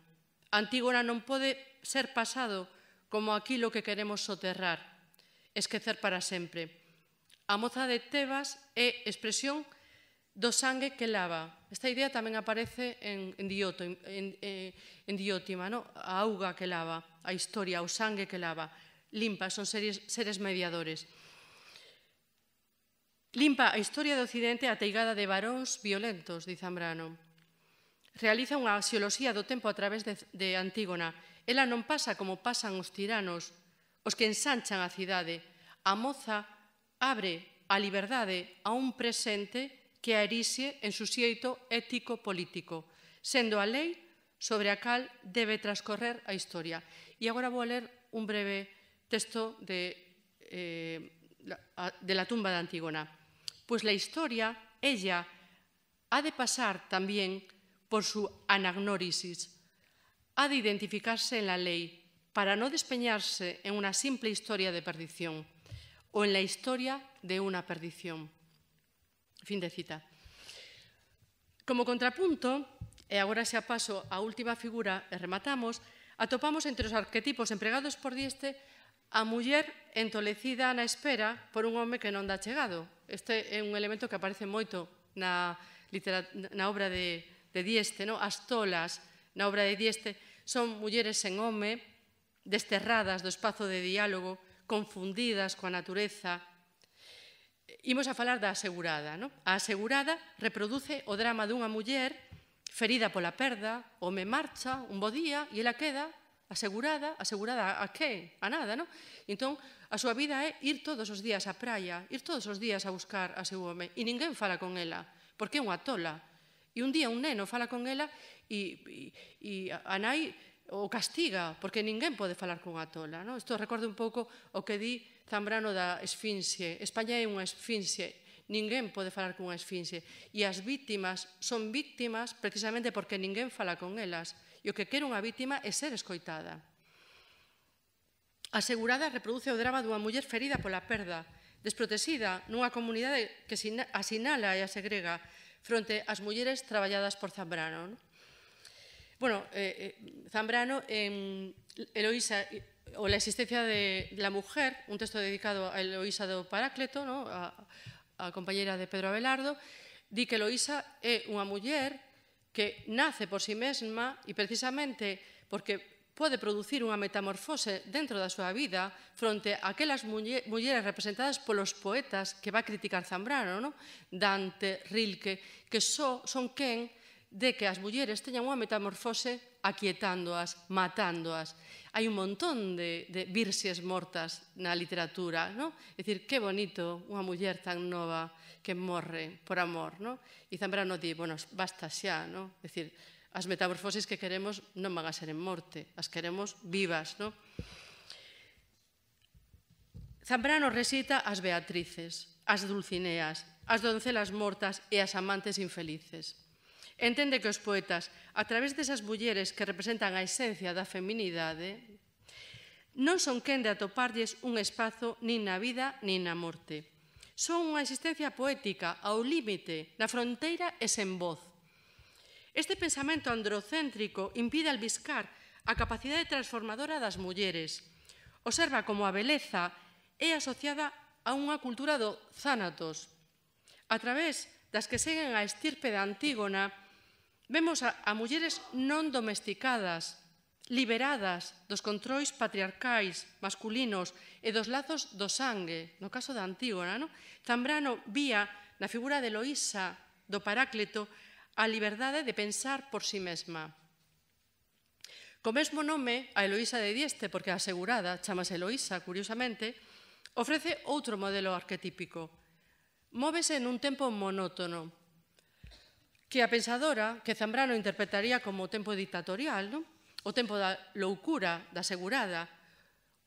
Antígona non pode ser pasado como aquilo que queremos soterrar, esquecer para sempre. A moza de Tebas é expresión do sangue que lava. Esta idea tamén aparece en, en, Dioto, en, en, en Diótima, ¿no? A auga que lava, a historia, o sangue que lava. Limpa, son seres, seres mediadores. Limpa a historia do Occidente ateigada de varóns violentos, di Zambrano. Realiza unha axioloxía do tempo a través de, de Antígona. Ela non pasa como pasan os tiranos, os que ensanchan a cidade. A moza abre a liberdade a un presente que a erixe en suxeito ético-político, sendo a lei sobre a cal debe transcorrer a historia. E agora vou ler un breve texto de, eh, de la tumba de Antígona. Pues la historia, ella, ha de pasar también por su anagnórisis, ha de identificarse en la ley para no despeñarse en una simple historia de perdición o en la historia de una perdición. Fin de cita. Como contrapunto, e agora xa paso á última figura e rematamos, atopamos entre os arquetipos empregados por Dieste a muller entolecida na espera por un home que non dá chegado. Este é un elemento que aparece moito na, na obra de, de Dieste. No? As tolas na obra de Dieste son mulleres sen home, desterradas do espazo de diálogo, confundidas coa natureza. Imos a falar da asegurada. No? A asegurada reproduce o drama dunha muller ferida pola perda, o me marcha un bo día e ela queda asegurada, asegurada a que? A nada, non? Entón, a súa vida é ir todos os días á praia, ir todos os días a buscar a seu home, e ninguén fala con ela, porque é unha tola. E un día un neno fala con ela e, e, e a nai o castiga, porque ninguén pode falar con a tola. Non? Isto recorda un pouco o que di Zambrano da esfinxe. España é unha esfinxe. Ninguén pode falar cunha esfinxe. E as vítimas son vítimas precisamente porque ninguén fala con elas. E o que quere unha vítima é ser escoitada. A asegurada reproduce o drama dunha muller ferida pola perda, desprotexida nunha comunidade que asinala e a segrega fronte ás mulleres traballadas por Zambrano. Non? Bueno, eh, Zambrano en Eloísa o la existencia de la mujer, un texto dedicado a Eloísa do Paráclito, ¿no? a, a compañera de Pedro Abelardo, di que Eloísa é unha muller que nace por si mesma e precisamente porque pode producir unha metamorfose dentro da súa vida fronte a aquelas mulleres representadas polos poetas que va a criticar Zambrano, ¿no? Dante, Rilke, que só son quen de que as mulleres teñan unha metamorfose aquietándoas, matándoas. Hai un montón de, de virxes mortas na literatura, non? É dicir, que bonito unha muller tan nova que morre por amor, non? E Zambrano di, bueno, basta xa, non? É dicir, as metamorfoses que queremos non van a ser en morte, as queremos vivas, non? Zambrano recita as Beatrices, as Dulcineas, as doncelas mortas e as amantes infelices. Entende que os poetas, a través desas mulleres que representan a esencia da feminidade, non son quen de atoparlles un espazo nin na vida nin na morte. Son unha existencia poética ao límite, na fronteira e sen voz. Este pensamento androcéntrico impide albiscar a capacidade transformadora das mulleres. Observa como a beleza é asociada a unha cultura do zánatos. A través das que seguen a estirpe de Antígona, vemos a, a mulleres non domesticadas, liberadas dos controis patriarcais, masculinos e dos lazos do sangue, no caso da Antígona. No? Zambrano vía na figura de Eloísa do Paráclito a liberdade de pensar por si mesma. Co mesmo nome, a Eloísa de Dieste, porque a asegurada chamase Eloísa, curiosamente, ofrece outro modelo arquetípico. Móvese nun tempo monótono, que a pensadora, que Zambrano interpretaría como tempo dictatorial, non? O tempo da loucura, da asegurada,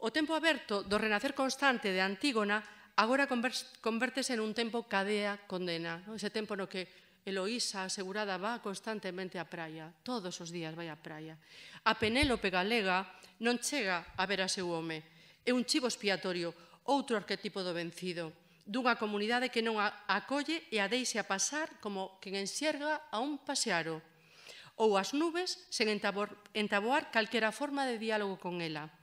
o tempo aberto do renacer constante de Antígona, agora convértese en un tempo cadea condena, non? Ese tempo no que Eloísa, asegurada, va constantemente á praia, todos os días vai á praia. A Penélope galega non chega a ver a seu home, é un chivo expiatorio, outro arquetipo do vencido, dunha comunidade que non a acolle e a deixa pasar como quen enxerga a un pasearo, ou as nubes sen entaboar calquera forma de diálogo con ela.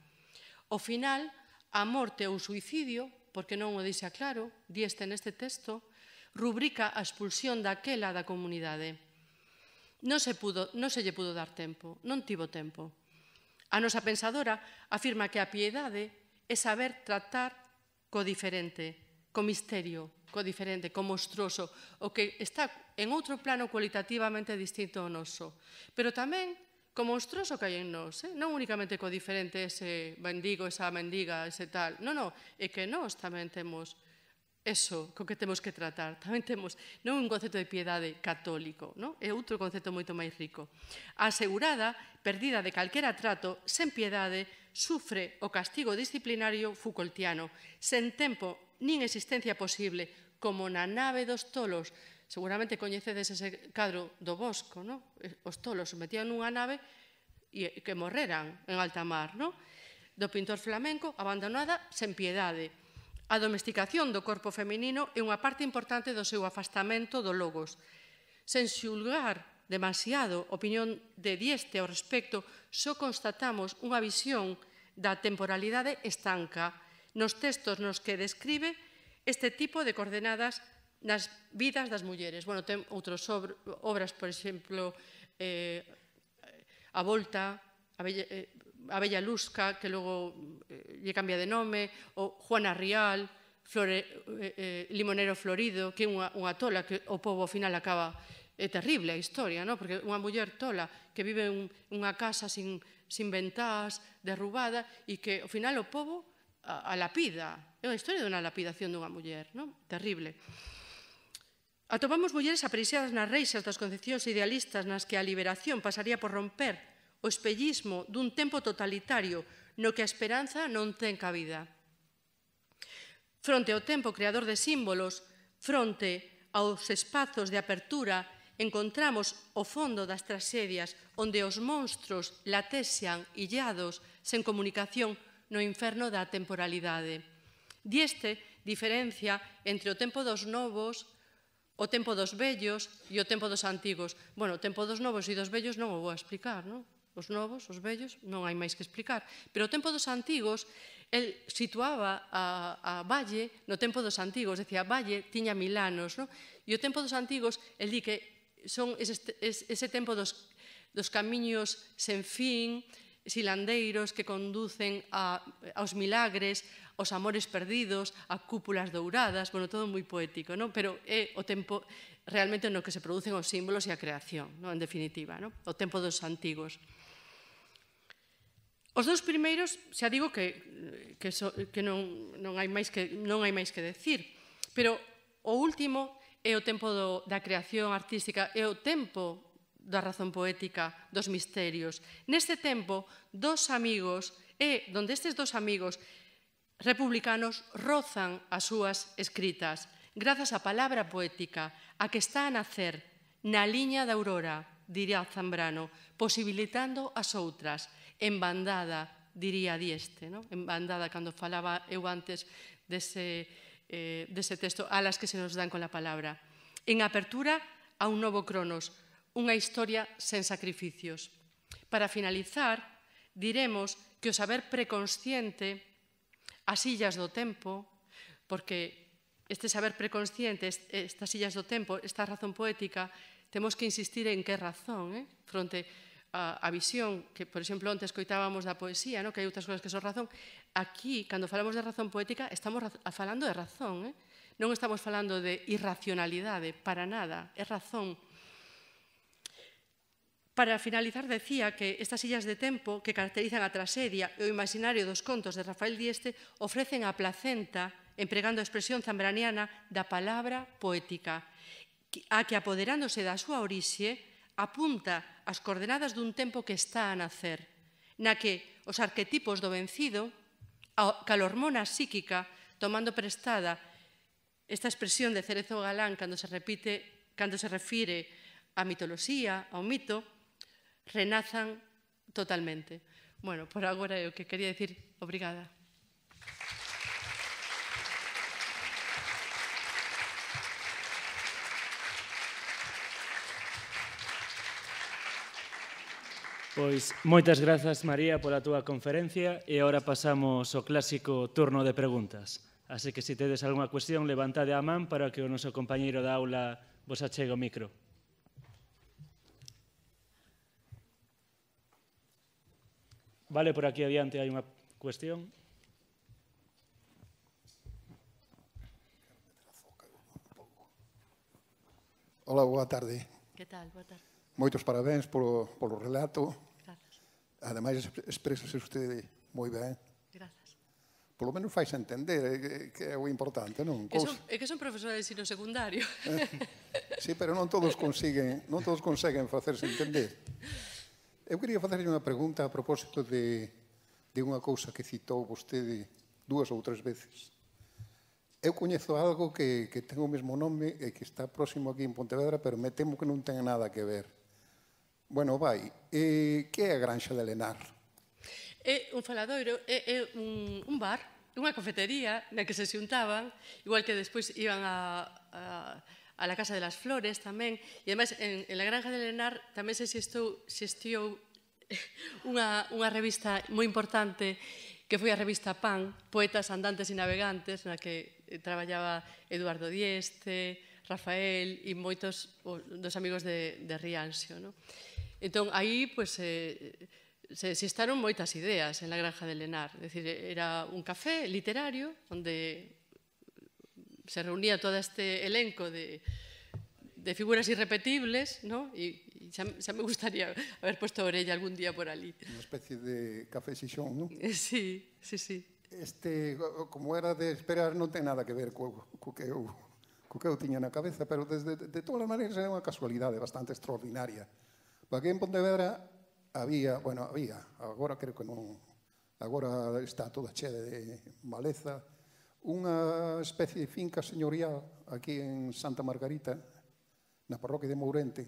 Ao final, a morte ou suicidio, porque non o deixa claro, Dieste neste texto, o rubrica a expulsión daquela da comunidade. Non se, pudo, non se lle pudo dar tempo, non tivo tempo. A nosa pensadora afirma que a piedade é saber tratar co diferente, co misterio, co diferente, co monstruoso, o que está en outro plano cualitativamente distinto ao noso. Pero tamén co monstruoso que hai en nós, eh? Non únicamente co diferente, ese mendigo, esa mendiga, ese tal. Non, non, é que nós tamén temos eso co que temos que tratar. Tamén temos non un concepto de piedade católico, non? É outro concepto moito máis rico. A asegurada, perdida de calquera trato, sen piedade, sufre o castigo disciplinario Foucaultiano, sen tempo nin existencia posible, como na nave dos tolos. Seguramente coñecedes ese cadro do Bosco, non? Os tolos se metían nunha nave e que morreran en alta mar, non? Do pintor flamenco, abandonada sen piedade. A domesticación do corpo feminino é unha parte importante do seu afastamento do logos. Sen xulgar demasiado opinión de Dieste ao respecto, só constatamos unha visión da temporalidade estanca nos textos nos que describe este tipo de coordenadas nas vidas das mulleres. Bueno, ten outras obras, por exemplo, eh, A Volta, a Bella, eh, a Bella Lusca, que logo eh, lle cambia de nome, ou Juana Rial, Flore, eh, eh, Limonero Florido, que é unha, unha tola que o pobo ao final acaba... É terrible a historia, non? Porque unha muller tola que vive en unha casa sin, sin ventás, derrubada, e que ao final o pobo a, a lapida. É unha historia dunha lapidación dunha muller, non? Terrible. Atopamos mulleres apreciadas nas reixas das concepcións idealistas nas que a liberación pasaría por romper o espellismo dun tempo totalitario no que a esperanza non ten cabida. Fronte ao tempo creador de símbolos, fronte aos espazos de apertura, encontramos o fondo das tragedias onde os monstros latexan illados sen comunicación no inferno da temporalidade. Dieste diferencia entre o tempo dos novos, o tempo dos vellos e o tempo dos antigos. Bueno, o tempo dos novos e dos vellos non o vou explicar, non? Os novos, os vellos, non hai máis que explicar. Pero o tempo dos antigos, el situaba a, a Valle no tempo dos antigos, decía, Valle tiña mil anos, non? E o tempo dos antigos, el di que son ese, ese tempo dos, dos camiños sen fin, silandeiros que conducen a, aos milagres, aos amores perdidos, a cúpulas douradas, bueno, todo moi poético, non? Pero é o tempo realmente no que se producen os símbolos e a creación, non? En definitiva, non? O tempo dos antigos. Os dous primeiros, xa digo que, que, so, que non, non, hai máis que, non hai máis que decir, pero o último é o tempo do, da creación artística, é o tempo da razón poética, dos misterios. Neste tempo, dos amigos, é donde estes dos amigos republicanos rozan as súas escritas, grazas á palabra poética, a que está a nacer na liña da aurora, diría Zambrano, posibilitando as outras, en bandada, diría Dieste, non? En bandada, cando falaba eu antes dese... Eh, dese texto, a las que se nos dan con la palabra. En apertura a un novo Cronos, unha historia sen sacrificios. Para finalizar, diremos que o saber preconsciente, as illas do tempo, porque este saber preconsciente, estas illas do tempo, esta razón poética, temos que insistir en que razón, eh? Fronte a, a visión, que, por exemplo, onte escoitábamos da poesía, no? Que hai outras cousas que son razón. Aquí, cando falamos de razón poética, estamos falando de razón, eh? Non estamos falando de irracionalidade, para nada, é razón. Para finalizar, decía que estas illas de tempo que caracterizan a traxedia e o imaginario dos contos de Rafael Dieste ofrecen a placenta, empregando a expresión zambraniana da palabra poética, a que, apoderándose da súa orixe, apunta as coordenadas dun tempo que está a nacer, na que os arquetipos do vencido, a hormona psíquica, tomando prestada esta expresión de Cerezo Galán cando se repite, cando se refire á mitoloxía, ao mito, renazan totalmente. Bueno, por agora é o que quería decir. Obrigada. Pois moitas grazas, María, pola túa conferencia e agora pasamos ao clásico turno de preguntas. Así que, se tedes algunha cuestión, levantade a man para que o noso compañeiro da aula vos achegue o micro. Vale, por aquí adiante hai unha cuestión. Hola, boa tarde. Que tal? Boa tarde. Moitos parabéns polo, polo relato. Grazas. Ademais, exprésase usted moi ben. Grazas. Polo menos fais entender, que é o importante, non? Que son, é que son profesora de ensino secundario. Sí, pero non todos consiguen, non todos conseguen facerse entender. Eu quería facerlle unha pregunta a propósito de, de unha cousa que citou vostede dúas ou tres veces. Eu coñezo algo que, que ten o mesmo nome e que está próximo aquí en Pontevedra, pero me temo que non ten nada que ver. Bueno, vai, eh, que é a Granxa de Lenar? É un faladoiro, é, é un, un bar, unha cafetería na que se xuntaban, igual que despois iban a, a, a la Casa de las Flores tamén, e además en, en la Granja de Lenar tamén se xestou, xestiou unha, unha revista moi importante que foi a revista Pan, Poetas, Andantes e Navegantes, na que traballaba Eduardo Dieste, Rafael e moitos dos amigos de, de Rianxo. No? Entón, aí, pues, eh, se xestaron moitas ideas en la Granja de Lenar. É dicir, era un café literario onde se reunía todo este elenco de, de figuras irrepetibles, ¿no? E, e xa, xa me gustaría haber puesto a orella algún día por ali. Unha especie de café xixón, non? Sí, sí, sí. Este, como era de esperar, non ten nada que ver co, co que eu co que eu tiña na cabeza, pero desde, de, de todas as maneiras é unha casualidade bastante extraordinaria. Porque en Pontevedra había, bueno, había, agora creo que non, agora está toda chea de maleza, unha especie de finca señorial aquí en Santa Margarita, na parroquia de Mourente,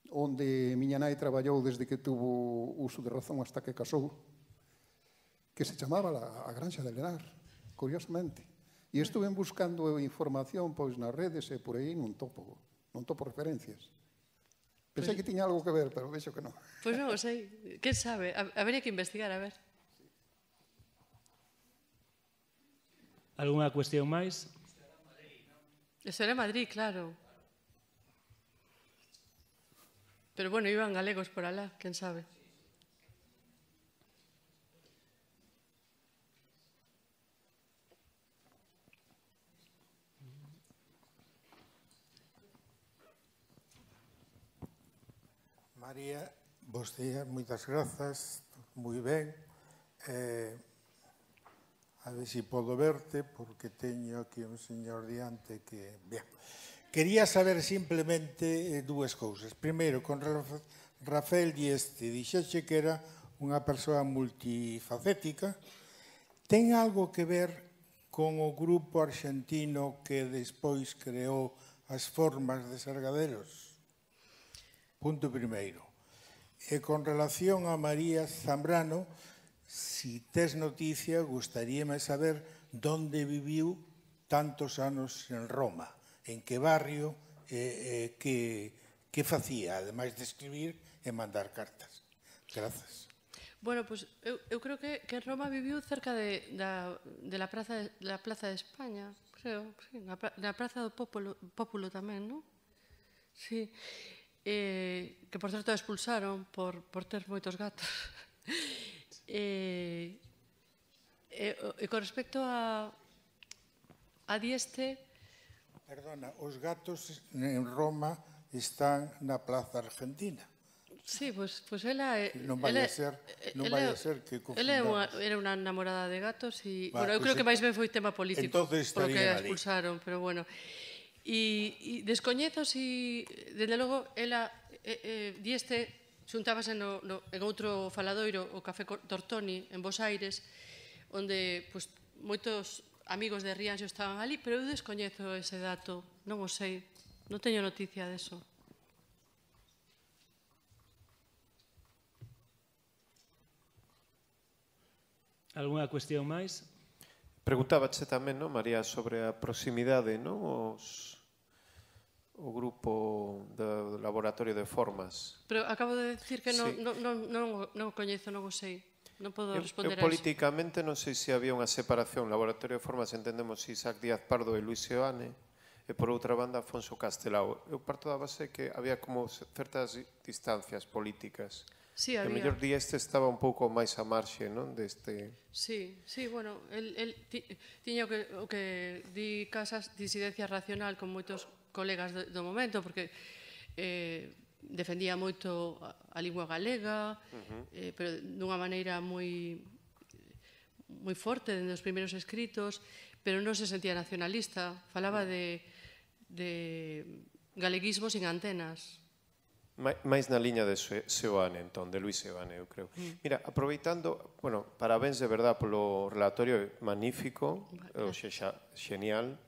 onde miña nai traballou desde que tuvo uso de razón hasta que casou, que se chamaba a Granxa de Lenar, curiosamente. E estuve buscando información pois nas redes e por aí non topo, non topo referencias. Pensei que tiña algo que ver, pero vexo que non. Pois non o sei, quen sabe? Habería que investigar, a ver. Algunha cuestión máis? Eso era Madrid, claro. Pero bueno, iban galegos por alá, quen sabe. María, bos días, moitas grazas, moi ben. Eh, a ver se podo verte, porque teño aquí un señor diante que... Bien. Quería saber simplemente eh, dúas cousas. Primeiro, con Rafael Dieste, dixeche que era unha persoa multifacética. Ten algo que ver con o grupo arxentino que despois creou as formas de Sargadelos? Punto primeiro. E con relación a María Zambrano, si tes noticia, gustaríame saber onde viviu tantos anos en Roma, en que barrio, eh, eh, que, que facía, ademais de escribir e mandar cartas. Grazas. Bueno, pues eu, eu creo que, que en Roma viviu cerca de, da, de la Plaza de, la Plaza de España, creo, sí, na, na Praza do Pópulo, Pópulo tamén, non? Sí. Eh, que, por certo, expulsaron por, por ter moitos gatos. eh, e, e con respecto a, a Dieste... Perdona, os gatos en Roma están na Plaza Argentina. Sí, pois pues, pues ela... Non vai a ser, non vai a ser que confundamos. Ela era unha enamorada de gatos e... Va, bueno, eu pues creo que máis ben foi tema político, polo que a expulsaron, pero bueno... E, e descoñezo si, desde logo, ela, eh, eh, Dieste, xuntábase no, no, en outro faladoiro, o Café Tortoni, en Bos Aires, onde pues, moitos amigos de Rianxo estaban ali, pero eu descoñezo ese dato, non o sei, non teño noticia deso. Algunha cuestión máis? Preguntábache tamén, non, María, sobre a proximidade, non, os, o grupo do Laboratorio de Formas. Pero acabo de decir que non, Sí. non, non, non, non o coñezo, non o sei. non podo Eu, responder eu a iso. políticamente non sei se había unha separación. Laboratorio de Formas entendemos Isaac Díaz Pardo e Luis Seoane, e por outra banda Afonso Castelao. Eu parto da base que había como certas distancias políticas. Sí, Que había. mellor di este estaba un pouco máis a marxe, non? Deste... Sí, sí, bueno, el, el ti, tiña o que, o que di Casas disidencia racional con moitos colegas do, do momento, porque eh, defendía moito a, a lingua galega, uh-huh. eh, pero dunha maneira moi moi forte dende os primeiros escritos, pero non se sentía nacionalista, falaba de, de galeguismo sin antenas. máis na liña de Seoane, entón, de Luis Seoane, eu creo. Mira, aproveitando, bueno, parabéns de verdad polo relatorio magnífico, o xa, genial,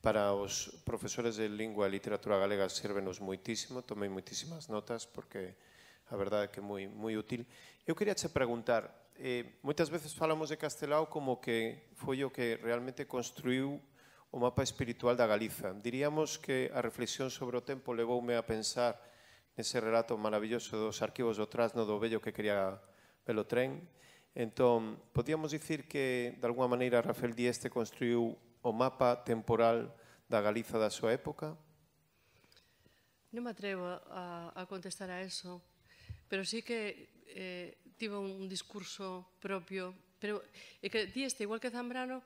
para os profesores de lingua e literatura galega sérvenos moitísimo, tomei moitísimas notas, porque a verdade é que é moi, moi útil. Eu queria che preguntar, eh, moitas veces falamos de Castelao como que foi o que realmente construiu o mapa espiritual da Galiza. Diríamos que a reflexión sobre o tempo levoume a pensar ese relato maravilloso dos arquivos do Trasno do vello que quería pelo tren. Entón, podíamos dicir que, de alguma maneira, Rafael Dieste construiu o mapa temporal da Galiza da súa época? Non me atrevo a, a contestar a eso, pero sí que eh, tivo un discurso propio, pero é que Dieste, igual que Zambrano,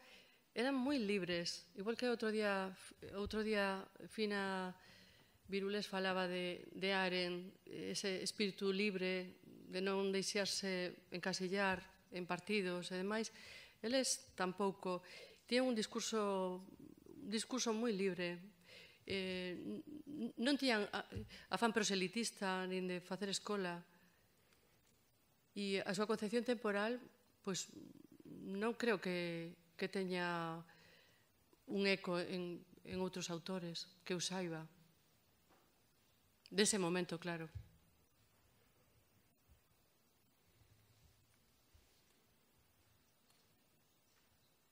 eran moi libres, igual que outro día, outro día Fina Virules falaba de, de Aren, ese espírito libre, de non deixarse encasillar en partidos e demais. Eles tampouco. Tiñan un discurso, un discurso moi libre. Eh, non tiñan afán proselitista nin de facer escola. E a súa concepción temporal, pois, non creo que, que teña un eco en, en outros autores, que eu saiba. Dese momento, claro.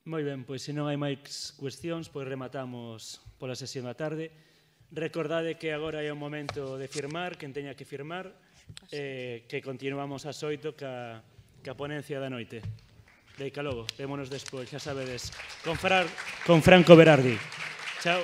Moi ben, pois se non hai máis cuestións, pois rematamos pola sesión da tarde. Recordade que agora é o momento de firmar, quen teña que firmar, eh, que continuamos ás oito ca, ca ponencia da noite. Deica logo, vémonos despois, xa sabedes, con, Fra, con Franco Berardi. Chao.